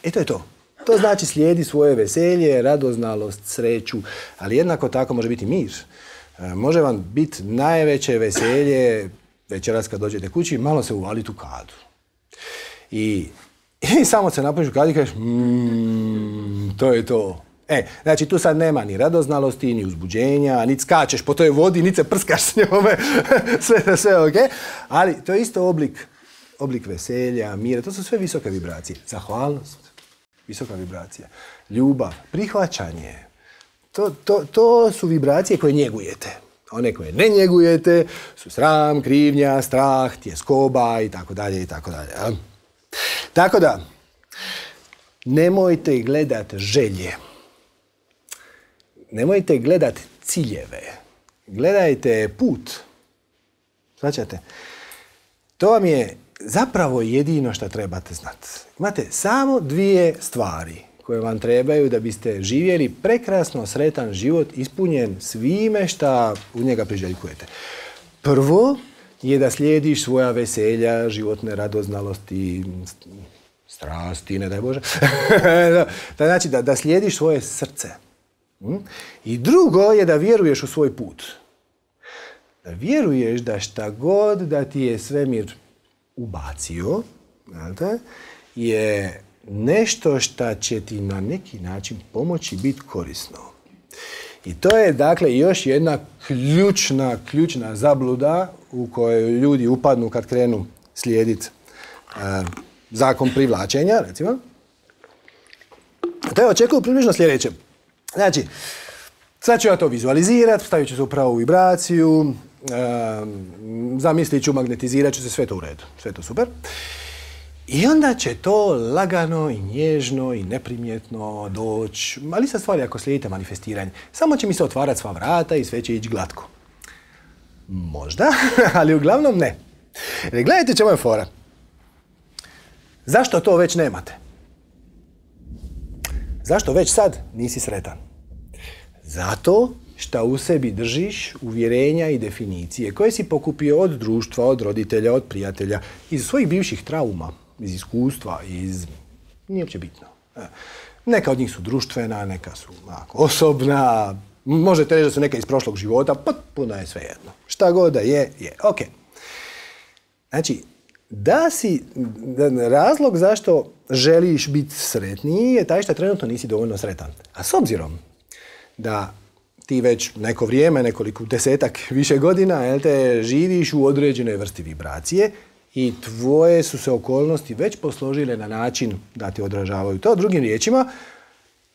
E to je to. To znači slijedi svoje veselje, radoznalost, sreću, ali jednako tako može biti mir. Može vam biti najveće veselje večeras kad dođete kući, malo se uvaliti u kadu. I, i samo se napuniš u kadu i kažeš, mmm, to je to. E, znači tu sad nema ni radoznalosti, ni uzbuđenja, ni skačeš po toj vodi, ni se prskaš s njome, sve, sve ok. Ali to je isto oblik, oblik veselja, mira, to su sve visoke vibracije. Zahvalnost, visoka vibracija. Ljubav, prihvaćanje. To, to, to su vibracije koje njegujete. One koje ne njegujete su sram, krivnja, strah, tjeskoba i tako dalje i tako dalje. Tako da, nemojte gledat želje. Nemojte gledat ciljeve. Gledajte put. Značate? To vam je zapravo jedino što trebate znati. Imate samo dvije stvari koje vam trebaju da biste živjeli prekrasno sretan život ispunjen svime šta u njega priželjkujete. Prvo je da slijediš svoja veselja, životne radoznalosti, strasti, ne daj Bože. Znači da, da slijediš svoje srce. I drugo je da vjeruješ u svoj put. Da vjeruješ da šta god da ti je svemir ubacio, je nešto što će ti na neki način pomoći biti korisno. I to je dakle još jedna ključna, ključna zabluda u kojoj ljudi upadnu kad krenu slijediti uh, zakon privlačenja, recimo. To je očekuju približno sljedeće. Znači, sad ću ja to vizualizirati, stavit ću se u pravu vibraciju, uh, zamislit ću, magnetizirat ću se, sve to u redu, sve to super. I onda će to lagano i nježno i neprimjetno doći, ali sa stvari ako slijedite manifestiranje. Samo će mi se otvarati sva vrata i sve će ići glatko. Možda, ali uglavnom ne. Jer gledajte čemu je fora. Zašto to već nemate? Zašto već sad nisi sretan? Zato što u sebi držiš uvjerenja i definicije koje si pokupio od društva, od roditelja, od prijatelja, iz svojih bivših trauma, iz iskustva, iz... nije uopće bitno. Neka od njih su društvena, neka su onako, osobna, možete reći da su neka iz prošlog života, potpuno je svejedno. Šta god da je, je. Ok. Znači, da si, razlog zašto želiš biti sretniji je taj što trenutno nisi dovoljno sretan. A s obzirom da ti već neko vrijeme, nekoliko desetak više godina, jel te, živiš u određenoj vrsti vibracije i tvoje su se okolnosti već posložile na način da ti odražavaju to. Drugim riječima,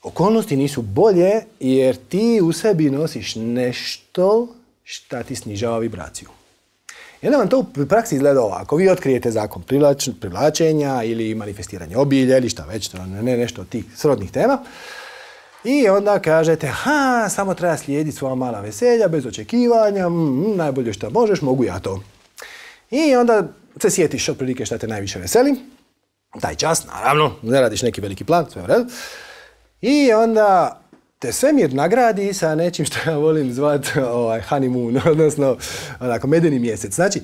okolnosti nisu bolje jer ti u sebi nosiš nešto šta ti snižava vibraciju. I onda vam to u praksi izgleda ovako. Vi otkrijete zakon privlač, privlačenja ili manifestiranje obilja ili šta već, ne nešto od tih srodnih tema. I onda kažete, ha, samo treba slijediti svoja mala veselja, bez očekivanja, mm, najbolje što možeš, mogu ja to. I onda se sjetiš otprilike šta te najviše veseli. Taj čas, naravno, ne radiš neki veliki plan, sve u redu. I onda te svemir nagradi sa nečim što ja volim zvati ovaj, honeymoon, odnosno onako, medeni mjesec. Znači,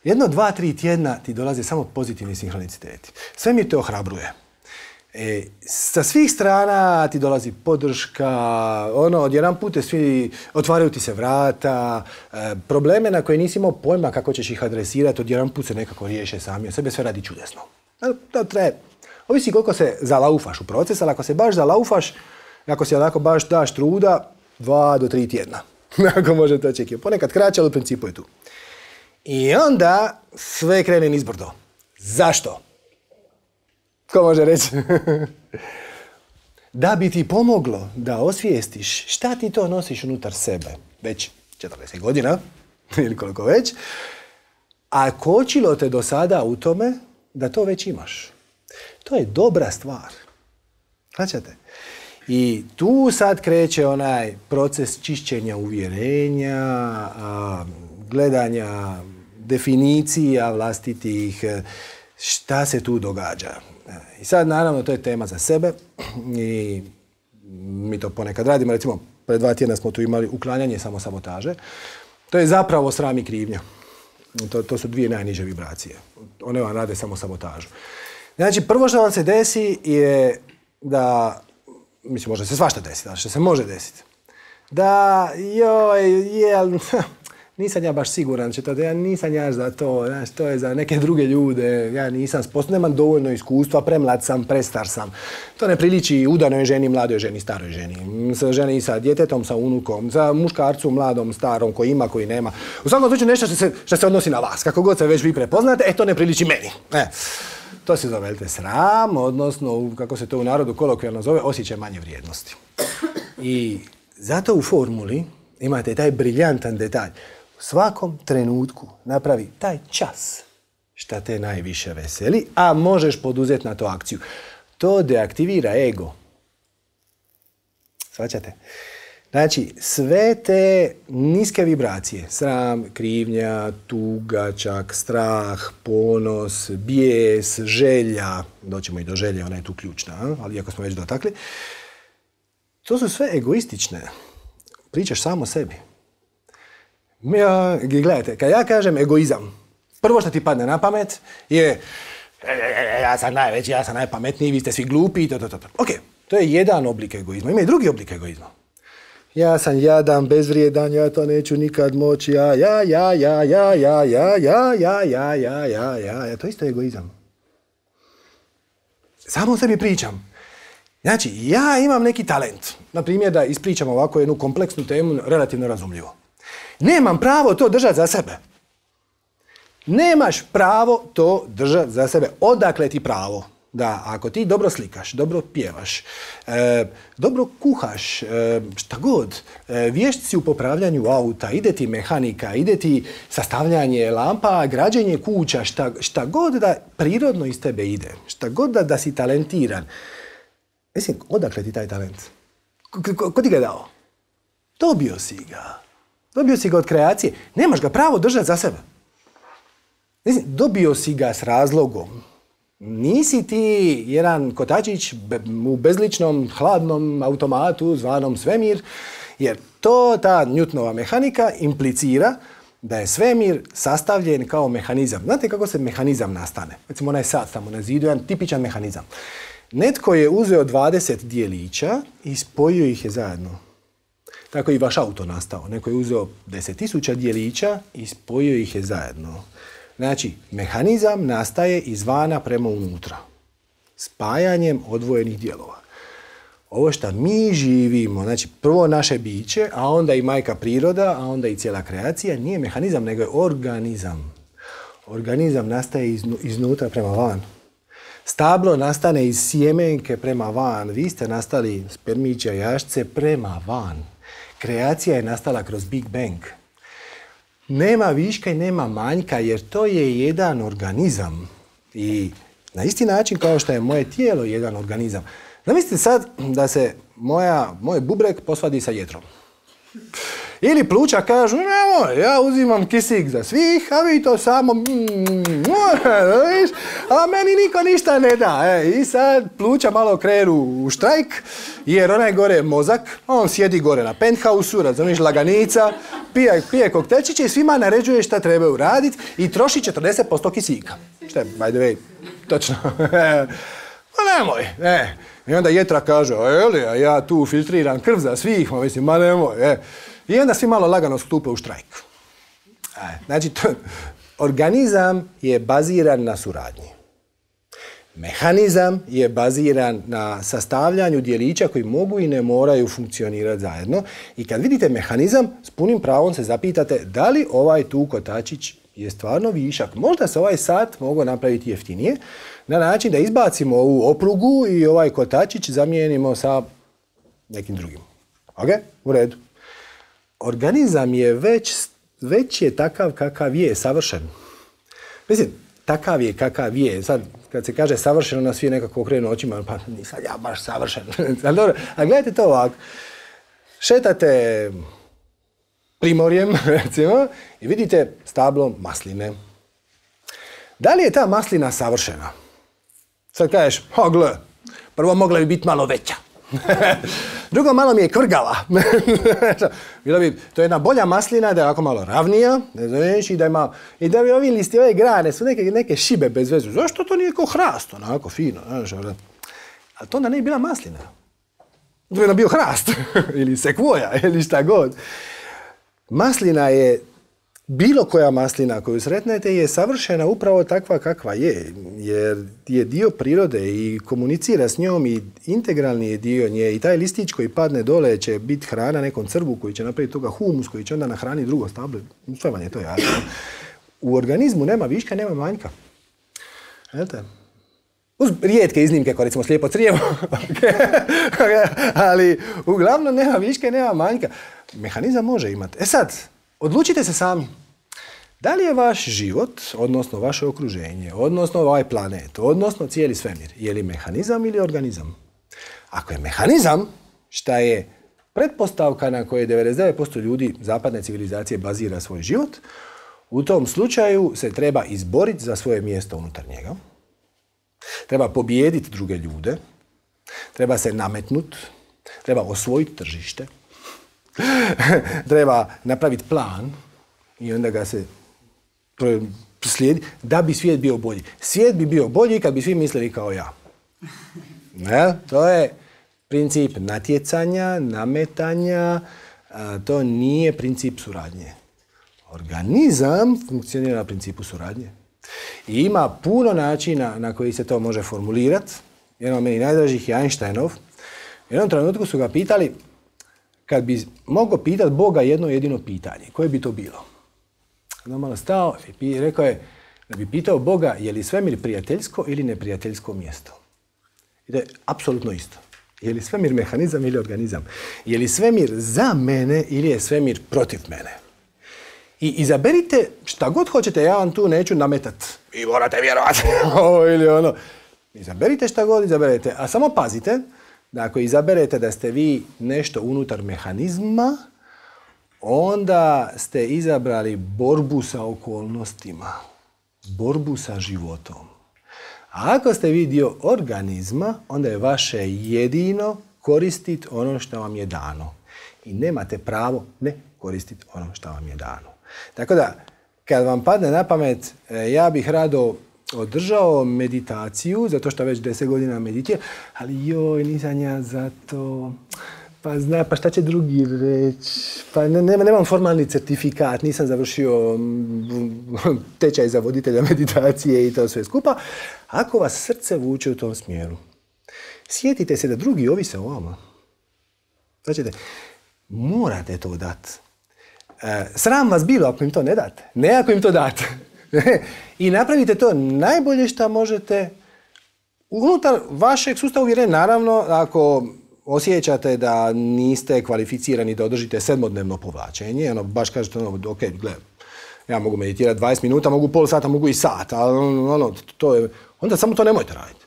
jedno, dva, tri tjedna ti dolaze samo pozitivni sinhroniciteti. Svemir te ohrabruje. E, sa svih strana ti dolazi podrška, ono, odjedan put te svi, otvaraju ti se vrata, e, probleme na koje nisi imao pojma kako ćeš ih adresirati, odjedan put se nekako riješe sami, od sebe sve radi čudesno. To treba, ovisi koliko se zalaufaš u proces, ali ako se baš zalaufaš, ako si onako baš daš truda, dva do tri tjedna. Ako možete očekivati. Ponekad kraće, ali u principu je tu. I onda sve krene nizbrdo. Zašto? Ko može reći? Da bi ti pomoglo da osvijestiš šta ti to nosiš unutar sebe, već četrdeset godina, ili koliko već, a kočilo te do sada u tome da to već imaš. To je dobra stvar. Značate? I tu sad kreće onaj proces čišćenja uvjerenja, a, gledanja definicija vlastitih, šta se tu događa. I sad naravno to je tema za sebe i mi to ponekad radimo. Recimo, pred dva tjedna smo tu imali uklanjanje samosabotaže. To je zapravo sram i krivnja. To, to su dvije najniže vibracije. One vam rade samosabotažu. Znači, prvo što vam se desi je da, mislim, može se svašta desiti, ali što se može desiti, da, joj, jel, nisam ja baš siguran, će to, ja nisam ja za to, znaš, to je za neke druge ljude, ja nisam sposoban, nemam dovoljno iskustva, premlad sam, prestar sam. To ne priliči udanoj ženi, mladoj ženi, staroj ženi, sa ženi sa djetetom, sa unukom, sa muškarcu, mladom, starom, koji ima, koji nema. U svakom slučaju nešto što se, što se odnosi na vas, kako god se već vi prepoznate, e, to ne priliči meni. E. To se zove sram, odnosno, kako se to u narodu kolokvijalno zove, osjećaj manje vrijednosti. I zato u formuli imate taj briljantan detalj. U svakom trenutku napravi taj čas šta te najviše veseli, a možeš poduzeti na to akciju. To deaktivira ego. Shvaćate? Znači, sve te niske vibracije, sram, krivnja, tuga, čak, strah, ponos, bijes, želja, doćemo i do želje, ona je tu ključna, ali iako smo već dotakli, to su sve egoistične. Pričaš samo o sebi. Ja, gledajte, kad ja kažem egoizam, prvo što ti padne na pamet je ja sam najveći, ja sam najpametniji, vi ste svi glupi i to, to, to. Ok, to je jedan oblik egoizma. Ima i drugi oblik egoizma. Ja sam jadan, bezvrijedan, ja to neću nikad moći, ja, ja, ja, ja, ja, ja, ja, ja, ja, ja, ja, ja, ja, ja, to isto je egoizam. Samo o sebi pričam. Znači, ja imam neki talent, na primjer da ispričam ovako jednu kompleksnu temu, relativno razumljivo. Nemam pravo to držati za sebe. Nemaš pravo to držati za sebe. Odakle ti pravo? Da, ako ti dobro slikaš, dobro pjevaš, e, dobro kuhaš, e, šta god, e, vješt si u popravljanju auta, ide ti mehanika, ide ti sastavljanje lampa, građenje kuća, šta, šta god da prirodno iz tebe ide, šta god da, da si talentiran. Mislim, odakle ti taj talent? Ko, ko, ko ti ga je dao? Dobio si ga. Dobio si ga od kreacije. Nemaš ga pravo držati za sebe. Mislim, dobio si ga s razlogom. Nisi ti jedan kotačić u bezličnom, hladnom automatu zvanom svemir, jer to, ta Newtonova mehanika implicira da je svemir sastavljen kao mehanizam. Znate kako se mehanizam nastane? Recimo onaj sat tamo na zidu, jedan tipičan mehanizam. Netko je uzeo dvadeset dijelića i spojio ih je zajedno. Tako je i vaš auto nastao. Neko je uzeo deset tisuća dijelića i spojio ih je zajedno. Znači, mehanizam nastaje izvana prema unutra. Spajanjem odvojenih dijelova. Ovo što mi živimo, znači prvo naše biće, a onda i majka priroda, a onda i cijela kreacija, nije mehanizam, nego je organizam. Organizam nastaje iznu, iznutra prema van. Stablo nastane iz sjemenke prema van. Vi ste nastali spermića jašce prema van. Kreacija je nastala kroz Big Bang. Nema viška i nema manjka, jer to je jedan organizam. I na isti način kao što je moje tijelo jedan organizam. Zamislite sad da se moja, moj bubreg posvadi sa jetrom. Ili pluća kažu, nemoj, ja uzimam kisik za svih, a vi to samo... A meni niko ništa ne da. E, I sad pluća malo krenu u štrajk, jer onaj gore mozak, on sjedi gore na penthausu, razumiješ, laganica, pije, pije koktelčiće i svima naređuje šta trebaju raditi i troši četrdeset posto kisika. Šta je, by the way, točno. Pa nemoj, e. I onda jetra kaže, a jeli, a ja tu filtriram krv za svih, ma mislim, ma nemoj, e. I onda svi malo lagano stupe u štrajk. E, znači, to, organizam je baziran na suradnji. Mehanizam je baziran na sastavljanju dijelića koji mogu i ne moraju funkcionirati zajedno. I kad vidite mehanizam, s punim pravom se zapitate da li ovaj tu kotačić je stvarno višak. Možda se ovaj sat mogu napraviti jeftinije, na način da izbacimo ovu oprugu i ovaj kotačić zamijenimo sa nekim drugim. Ok? U redu. Organizam je već, već je takav kakav je, savršen. Mislim, takav je kakav je. Sad, kad se kaže savršeno, nas svi nekako okrenu očima, pa nisam ja baš savršen. Ali dobro, a gledajte to ovako. Šetate primorjem, recimo, i vidite stablo masline. Da li je ta maslina savršena? Sad kažeš, o gle, prvo mogla bi biti malo veća. Drugo, malo mi je kvrgala. Bilo bi, to je jedna bolja maslina, da je ovako malo ravnija, ne znaš, i da ima, i da bi ovi listi, ove grane su neke, neke šibe bez vezu. Zašto to nije kao hrast, onako fino, znaš, ali to onda nije bila maslina. To bi onda bio hrast, ili sekvoja, ili šta god. Maslina je, bilo koja maslina koju sretnete je savršena upravo takva kakva je, jer je dio prirode i komunicira s njom i integralni je dio nje i taj listić koji padne dole će biti hrana nekom crvu koji će napraviti toga humus koji će onda nahraniti drugo stablo. Sve vam je to jasno. U organizmu nema viška, nema manjka. Znate? Uz rijetke iznimke, kao recimo slijepo crijevo, ali uglavnom nema viška i nema manjka. Mehanizam može imati. E sad, odlučite se sami. Da li je vaš život, odnosno vaše okruženje, odnosno ovaj planet, odnosno cijeli svemir, je li mehanizam ili organizam? Ako je mehanizam, šta je pretpostavka na kojoj devedeset devet posto ljudi zapadne civilizacije bazira svoj život, u tom slučaju se treba izboriti za svoje mjesto unutar njega. Treba pobijediti druge ljude, treba se nametnuti, treba osvojiti tržište, treba napraviti plan i onda ga se slijedi da bi svijet bio bolji. Svijet bi bio bolji kad bi svi mislili kao ja. Ne? To je princip natjecanja, nametanja, a, to nije princip suradnje. Organizam funkcionira na principu suradnje. I ima puno načina na koji se to može formulirati. Jedan od meni najdražih je Einsteinov. U jednom trenutku su ga pitali, kad bi mogao pitati Boga jedno jedino pitanje, koje bi to bilo? Onda malo stao i rekao je da bi pitao Boga je li svemir prijateljsko ili neprijateljsko mjesto. I to je apsolutno isto. Je li svemir mehanizam ili organizam? Je li svemir za mene ili je svemir protiv mene? I izaberite šta god hoćete, ja vam tu neću nametat. Vi morate vjerovati ovo ili ono. Izaberite šta god izaberete, a samo pazite da ako izaberete da ste vi nešto unutar mehanizma, onda ste izabrali borbu sa okolnostima, borbu sa životom. A ako ste vi dio organizma, onda je vaše jedino koristiti ono što vam je dano. I nemate pravo ne koristiti ono što vam je dano. Tako da, kad vam padne na pamet, ja bih rado održao meditaciju, zato što već deset godina meditiram, ali joj, nisam ja za to, pa zna, pa šta će drugi reći, pa ne, ne, nemam formalni certifikat, nisam završio tečaj za voditelja meditacije i to sve skupa. Ako vas srce vuče u tom smjeru, sjetite se da drugi ovise o vama. Znači, morate to dati. E, sram vas bilo ako im to ne date, ne ako im to date. I napravite to najbolje što možete unutar vašeg sustava uvjerenja. Naravno, ako osjećate da niste kvalificirani da održite sedmodnevno povlačenje, ono, baš kažete, ono, ok, gledaj, ja mogu meditirati dvadeset minuta, mogu pol sata, mogu i sat, ali ono, to je, onda samo to nemojte raditi.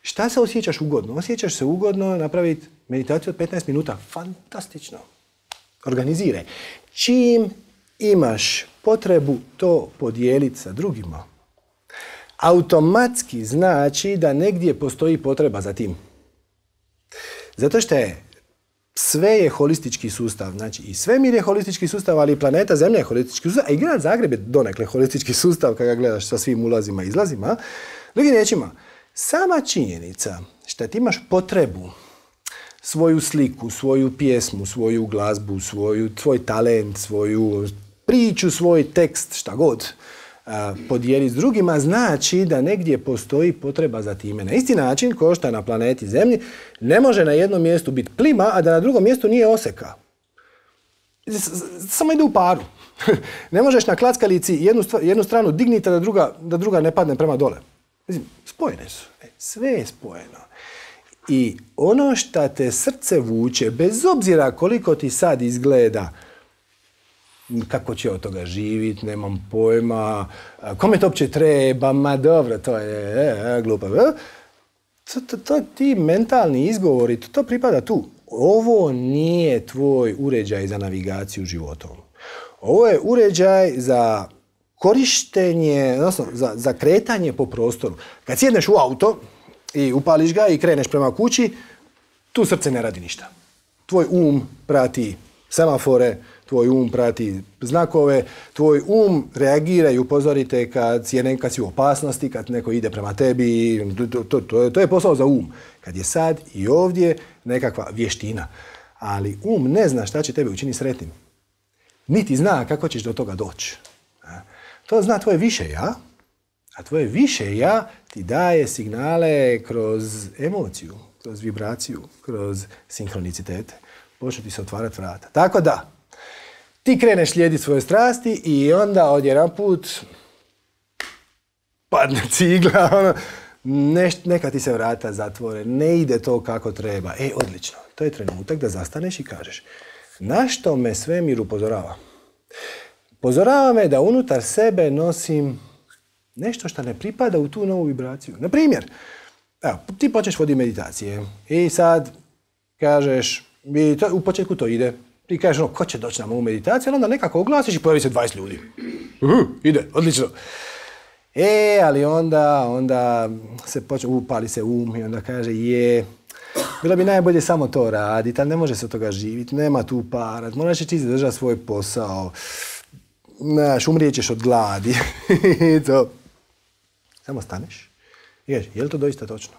Šta se osjećaš ugodno? Osjećaš se ugodno napraviti meditaciju od petnaest minuta. Fantastično. Organiziraj. Čim imaš potrebu to podijeliti sa drugima, automatski znači da negdje postoji potreba za tim. Zato što je sve je holistički sustav. Znači i svemir je holistički sustav, ali i planeta Zemlja je holistički sustav, a i grad Zagreb je donekle holistički sustav kada ga gledaš sa svim ulazima i izlazima. Drugim riječima, sama činjenica što ti imaš potrebu svoju sliku, svoju pjesmu, svoju glazbu, svoju, tvoj talent, svoju priču, svoj tekst, šta god, podijeli s drugima, znači da negdje postoji potreba za time. Na isti način, kao što na planeti Zemlji, ne može na jednom mjestu biti plima, a da na drugom mjestu nije oseka. Samo ide u paru. Ne možeš na klackalici jednu, jednu stranu digniti, da druga, da druga ne padne prema dole. Mislim, spojene su. Sve je spojeno. I ono što te srce vuče, bez obzira koliko ti sad izgleda, kako će od toga živjeti, nemam pojma, kome to uopće treba, ma dobro, to je e, e, glupo. To, to, to ti mentalni izgovori, to, to pripada tu. Ovo nije tvoj uređaj za navigaciju životom. Ovo je uređaj za korištenje, odnosno za, za kretanje po prostoru. Kad sjedneš u auto i upališ ga i kreneš prema kući, tu srce ne radi ništa. Tvoj um prati semafore, tvoj um prati znakove, tvoj um reagira i upozorite kad si, kad si u opasnosti, kad neko ide prema tebi, to, to, to, to je posao za um. Kad je sad i ovdje nekakva vještina. Ali um ne zna šta će tebe učiniti sretnim. Niti zna kako ćeš do toga doći. To zna tvoje više ja, a tvoje više ja ti daje signale kroz emociju, kroz vibraciju, kroz sinhronicitete. Počnu ti se otvarati vrata. Tako da, ti kreneš slijediti svoje strasti i onda odjedanput padne cigla, ono, neš, neka ti se vrata zatvore, ne ide to kako treba. E, odlično, to je trenutak da zastaneš i kažeš, na što me svemir upozorava? Upozorava me da unutar sebe nosim nešto što ne pripada u tu novu vibraciju. Na primjer, evo, ti počneš voditi meditacije i sad kažeš, i to, u početku to ide, ti kažeš ono, ko će doći na moju meditaciju, onda nekako oglasiš i pojavi se dvadeset ljudi. Uhu, ide, odlično. E, ali onda, onda se počne, upali se um i onda kaže, je, bilo bi najbolje samo to raditi, ali ne može se od toga živjeti, nema tu para, moraš ti zadržati svoj posao, znaš, umrijećeš od gladi. To. Samo staneš i kažeš, je li to doista točno?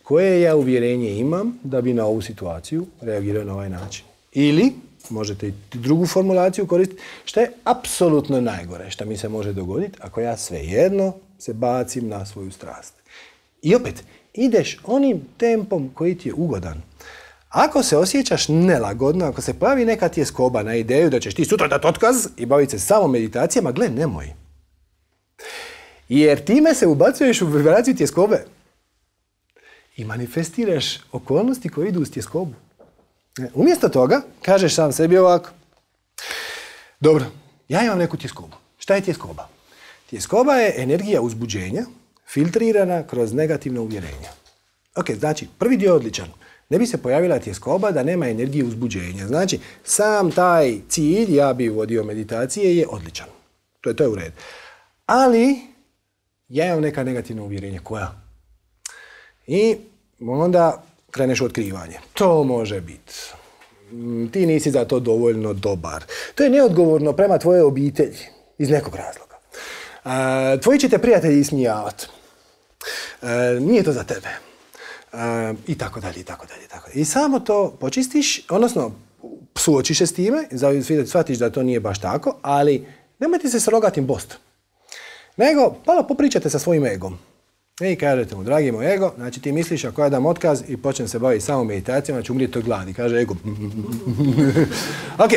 Koje ja uvjerenje imam da bi na ovu situaciju reagirao na ovaj način? Ili, možete i drugu formulaciju koristiti, što je apsolutno najgore što mi se može dogoditi ako ja svejedno se bacim na svoju strast. I opet, ideš onim tempom koji ti je ugodan. Ako se osjećaš nelagodno, ako se pojavi neka tjeskoba na ideju da ćeš ti sutra dati otkaz i baviti se samo meditacijama, gle, nemoj. Jer time se ubacuješ u vibraciju tjeskobe. I manifestiraš okolnosti koje idu uz tjeskobu. Umjesto toga, kažeš sam sebi ovako, dobro, ja imam neku tjeskobu. Šta je tjeskoba? Tjeskoba je energija uzbuđenja, filtrirana kroz negativna uvjerenja. Ok, znači, prvi dio je odličan. Ne bi se pojavila tjeskoba da nema energije uzbuđenja. Znači, sam taj cilj, ja bi vodio meditacije, je odličan. To je, to je u redu. Ali, ja imam neka negativna uvjerenja. Koja? I onda kreneš u otkrivanje. To može biti. Ti nisi za to dovoljno dobar. To je neodgovorno prema tvojoj obitelji. Iz nekog razloga. A, tvoji će te prijatelji ismijavati. Nije to za tebe. A, I tako dalje, i tako dalje, i tako dalje. I samo to počistiš, odnosno suočiš se s time, shvatiš da to nije baš tako, ali nemoj ti se s rogatim bost. Nego, malo popričate sa svojim egom. I kažete mu, dragi moj ego, znači ti misliš ako ja dam otkaz i počnem se baviti samo meditacijama, ću umrijeti od gladi. Kaže ego. Ok,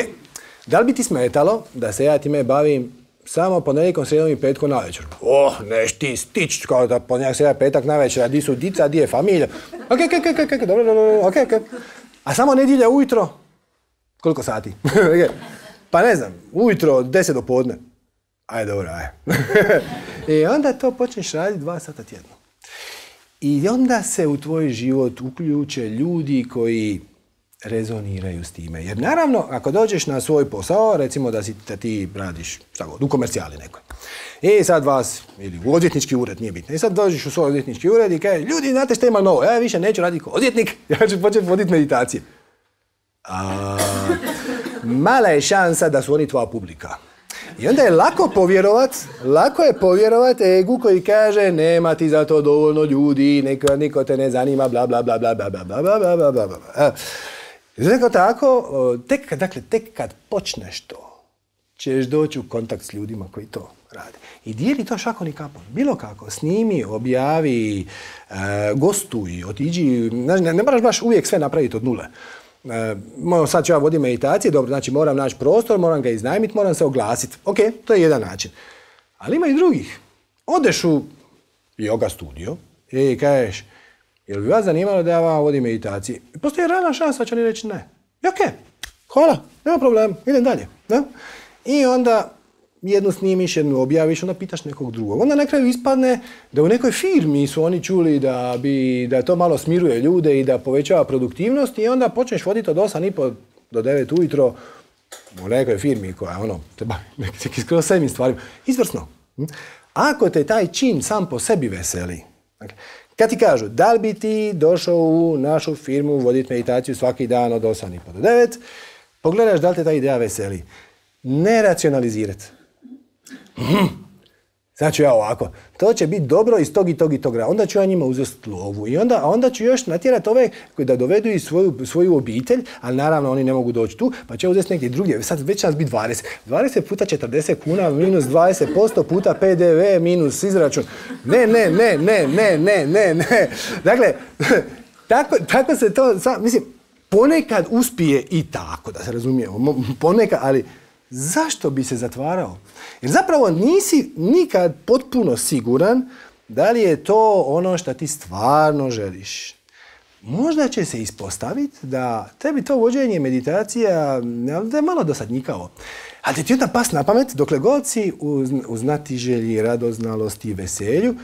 da li bi ti smetalo da se ja time bavim samo ponedjeljkom, srijedom i petkom navečer? Oh, neš ti stić, kao da ponedjeljak, srijeda, petak navečer, a di su dica, di je familija. Ok, ok, ok, ok, dobro, dobro, ok, ok. A samo nedjelja ujutro, koliko sati? Pa ne znam, ujutro od deset do podne. Ajde, dobro, ajde. I onda to počneš raditi dva sata tjedno. I onda se u tvoj život uključe ljudi koji rezoniraju s time. Jer naravno, ako dođeš na svoj posao, recimo da, si, da ti radiš šta god, u komercijali nekoj. I sad vas, ili u odvjetnički ured, nije bitno. I sad dođeš u svoj odvjetnički ured i kaže, ljudi, znate šta ima novo? Ja više neću raditi kao odvjetnik, ja ću početi voditi meditacije. A, mala je šansa da su oni tvoja publika. I onda je lako povjerovat, lako je povjerovat egu koji kaže nema ti za to dovoljno ljudi, niko, niko te ne zanima, bla bla bla bla bla bla bla bla bla bla bla bla. Zato tako, tek, dakle, tek kad počneš to, ćeš doći u kontakt s ljudima koji to rade. I dijeli to šakom i kapom. Bilo kako, snimi, objavi, e, gostuj, otiđi, ne, ne moraš baš uvijek sve napraviti od nule. Uh, sad ću ja voditi meditacije, dobro, znači moram naći prostor, moram ga iznajmiti, moram se oglasiti. Ok, to je jedan način. Ali ima i drugih. Odeš u yoga studio i kažeš, jel bi vas zanimalo da ja vam vodim meditacije? Postoji realna šansa, će oni reći ne. I ok, hvala, nema problema, idem dalje. Da? I onda jednu snimiš, jednu objaviš, onda pitaš nekog drugog. Onda na kraju ispadne da u nekoj firmi su oni čuli da, bi, da to malo smiruje ljude i da povećava produktivnost i onda počneš voditi od osam i po do devet ujutro u nekoj firmi koja ono, te bavi neki skroz sedmim stvarima. Izvrsno. Ako te taj čin sam po sebi veseli, kad ti kažu da li bi ti došao u našu firmu voditi meditaciju svaki dan od osam i po do devet, pogledaš da li te ta ideja veseli. Ne racionalizirati. Sad ću ja ovako, to će biti dobro iz tog i tog i tog rada. Onda ću ja njima uzeti lovu i onda, onda ću još natjerati ove koji da dovedu i svoju, svoju obitelj, ali naravno oni ne mogu doći tu, pa će uzeti neke druge. Sad već će nas biti dvadeset. dvadeset puta četrdeset kuna minus dvadeset posto puta P D V minus izračun. Ne, ne, ne, ne, ne, ne, ne, ne. Dakle, tako, tako se to, mislim, ponekad uspije i tako, da se razumijemo. Ponekad, ali zašto bi se zatvarao? Jer zapravo nisi nikad potpuno siguran da li je to ono što ti stvarno želiš. Možda će se ispostaviti da tebi to vođenje meditacija da je malo dosadnjikavo. Ali ti onda pas na pamet dokle god si u, u znatiželji, radoznalosti i veselju,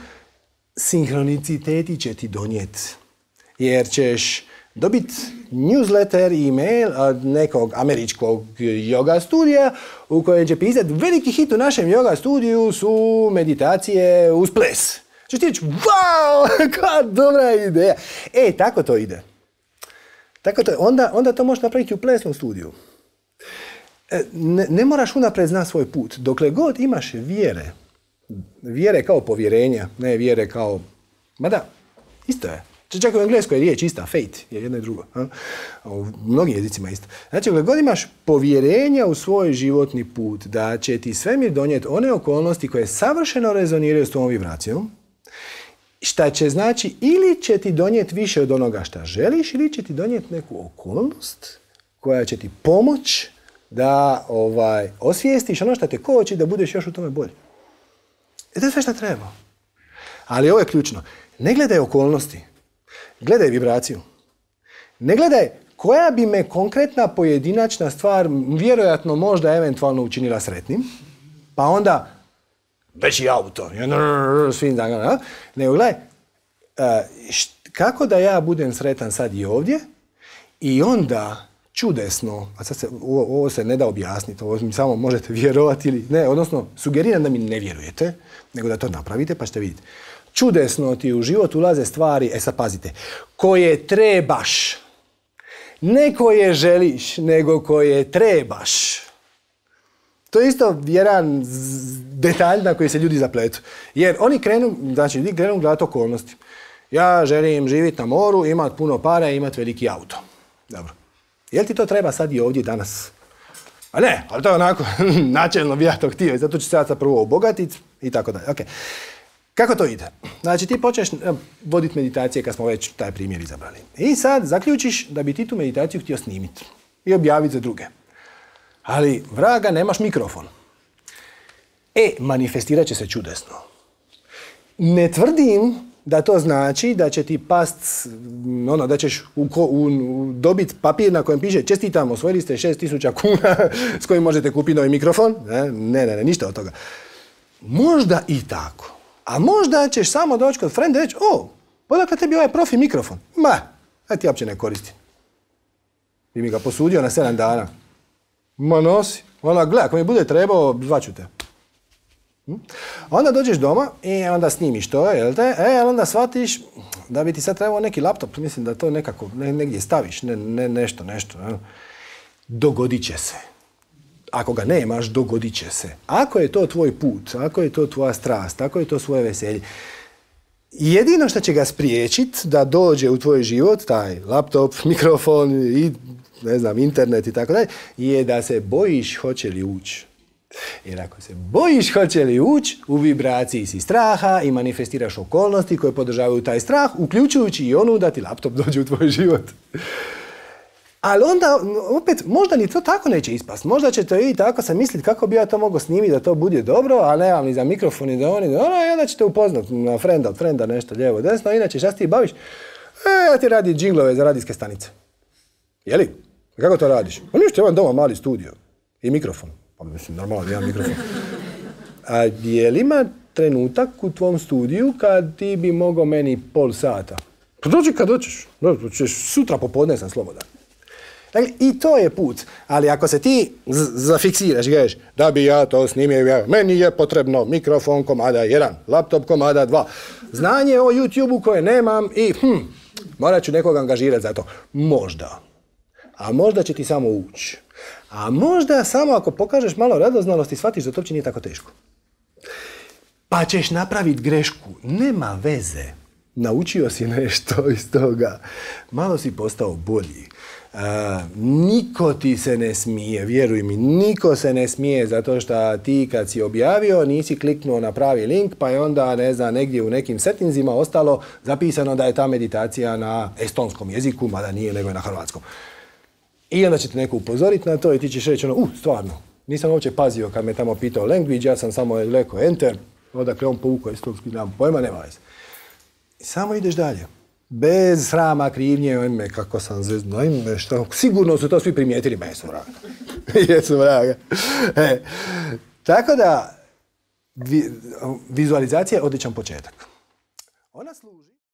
sinhroniciteti će ti donijeti. Jer ćeš dobiti newsletter, e-mail od nekog američkog yoga studija u kojem će pisati veliki hit u našem yoga studiju su meditacije uz ples. Češ ti reći, wow, koja dobra ideja. E, tako to ide. Tako to, onda, onda to možeš napraviti u plesnom studiju. Ne, ne moraš unaprijed znati svoj put. Dokle god imaš vjere, vjere kao povjerenja, ne vjere kao, mada, isto je. Čak u engleskoj je riječ ista, faith je jedno i drugo. A? U mnogim jezicima isto. Znači, kada god imaš povjerenja u svoj životni put, da će ti svemir donijeti one okolnosti koje savršeno rezoniraju s tvojom vibracijom, šta će znači ili će ti donijeti više od onoga šta želiš, ili će ti donijeti neku okolnost koja će ti pomoć da ovaj, osvijestiš ono što te koči da budeš još u tome bolji. I to je sve što treba. Ali ovo je ključno. Ne gledaj okolnosti. Gledaj vibraciju. Ne gledaj koja bi me konkretna pojedinačna stvar vjerojatno možda eventualno učinila sretnim, pa onda veći auto, svim danima, nego gledaj kako da ja budem sretan sad i ovdje i onda čudesno, a sad se, ovo, ovo se ne da objasniti, ovo mi samo možete vjerovati ili ne, odnosno sugeriram da mi ne vjerujete, nego da to napravite pa ćete vidjeti. Čudesno ti u život ulaze stvari, e sad pazite, koje trebaš. Ne koje želiš, nego koje trebaš. To je isto jedan detalj na koji se ljudi zapletu. Jer oni krenu, znači ljudi krenu gledati okolnosti. Ja želim živjeti na moru, imati puno para i imati veliki auto. Dobro. Jel ti to treba sad i ovdje danas? A ne, ali to je onako, načelno bi ja to htio i zato ću se ja sad prvo obogatiti i tako dalje. Okay. Kako to ide? Znači ti počneš voditi meditacije kad smo već taj primjer izabrali. I sad zaključiš da bi ti tu meditaciju htio snimiti i objaviti za druge. Ali, vraga, nemaš mikrofon. E, manifestirat će se čudesno. Ne tvrdim da to znači da će ti past, ono, da ćeš u, u, u dobiti papir na kojem piše čestitam, osvojili ste šest tisuća kuna s kojim možete kupiti novi mikrofon. Ne, ne, ne, ništa od toga. Možda i tako. A možda ćeš samo doći kod frenda i reći, o, odakle tebi ovaj profi mikrofon? Ma, ja ti uopće ne koristim. Ti mi ga posudio na sedam dana. Ma nosi. Ona, gle, ako mi bude trebao, zvaću te. Hm? Onda dođeš doma i onda snimiš to, jel te? E, onda shvatiš da bi ti sad trebao neki laptop, mislim da to nekako ne, negdje staviš, ne, ne, nešto, nešto. Ne? Dogodit će se. Ako ga nemaš, dogodit će se. Ako je to tvoj put, ako je to tvoja strast, ako je to svoje veselje, jedino što će ga spriječiti da dođe u tvoj život, taj laptop, mikrofon i ne znam, internet i tako dalje, je da se bojiš hoće li ući. Jer ako se bojiš hoće li ući, u vibraciji si straha i manifestiraš okolnosti koje podržavaju taj strah, uključujući i onu da ti laptop dođe u tvoj život. Ali onda, opet, možda ni to tako neće ispast. Možda će to i tako sam misliti kako bi ja to mogao snimiti da to bude dobro, a nemam ni za mikrofon i da oni, ono, i onda ćete upoznat na frenda, od frenda nešto lijevo, desno, inače šta ti baviš? E, ja ti radi džinglove za radijske stanice. Jeli? Kako to radiš? Pa ništa, imam doma mali studio i mikrofon. Pa mislim, normalno, imam mikrofon. A je li ima trenutak u tvom studiju kad ti bi mogao meni pol sata? Pa dođi kad doćeš. Dođeš, sutra popodne sam slobodan. Dakle, i to je put. Ali ako se ti zafiksiraš i kažeš da bi ja to snimio, meni je potrebno mikrofon komada jedan, laptop komada dva, znanje o YouTube-u koje nemam i hm, morat ću nekog angažirati za to. Možda. A možda će ti samo ući. A možda samo ako pokažeš malo radoznalosti shvatiš da to uopće nije tako teško. Pa ćeš napraviti grešku. Nema veze. Naučio si nešto iz toga. Malo si postao bolji. Uh, niko ti se ne smije, vjeruj mi, niko se ne smije zato što ti kad si objavio nisi kliknuo na pravi link pa je onda, ne znam, negdje u nekim settingsima ostalo zapisano da je ta meditacija na estonskom jeziku, mada nije, nego je na hrvatskom. I onda će te neko upozoriti na to i ti ćeš reći ono, uh, stvarno, nisam uopće pazio kad me tamo pitao language, ja sam samo rekao enter, odakle on povukao estonski, nemam pojma, nema veze. I samo ideš dalje. Bez srama, krivnje, ojme, kako sam zvezno, ojme, šta, sigurno su to svi primijetili, ma jesu vraga. jesu vraga. E, tako da, vi, vizualizacija je odličan početak. Ona služi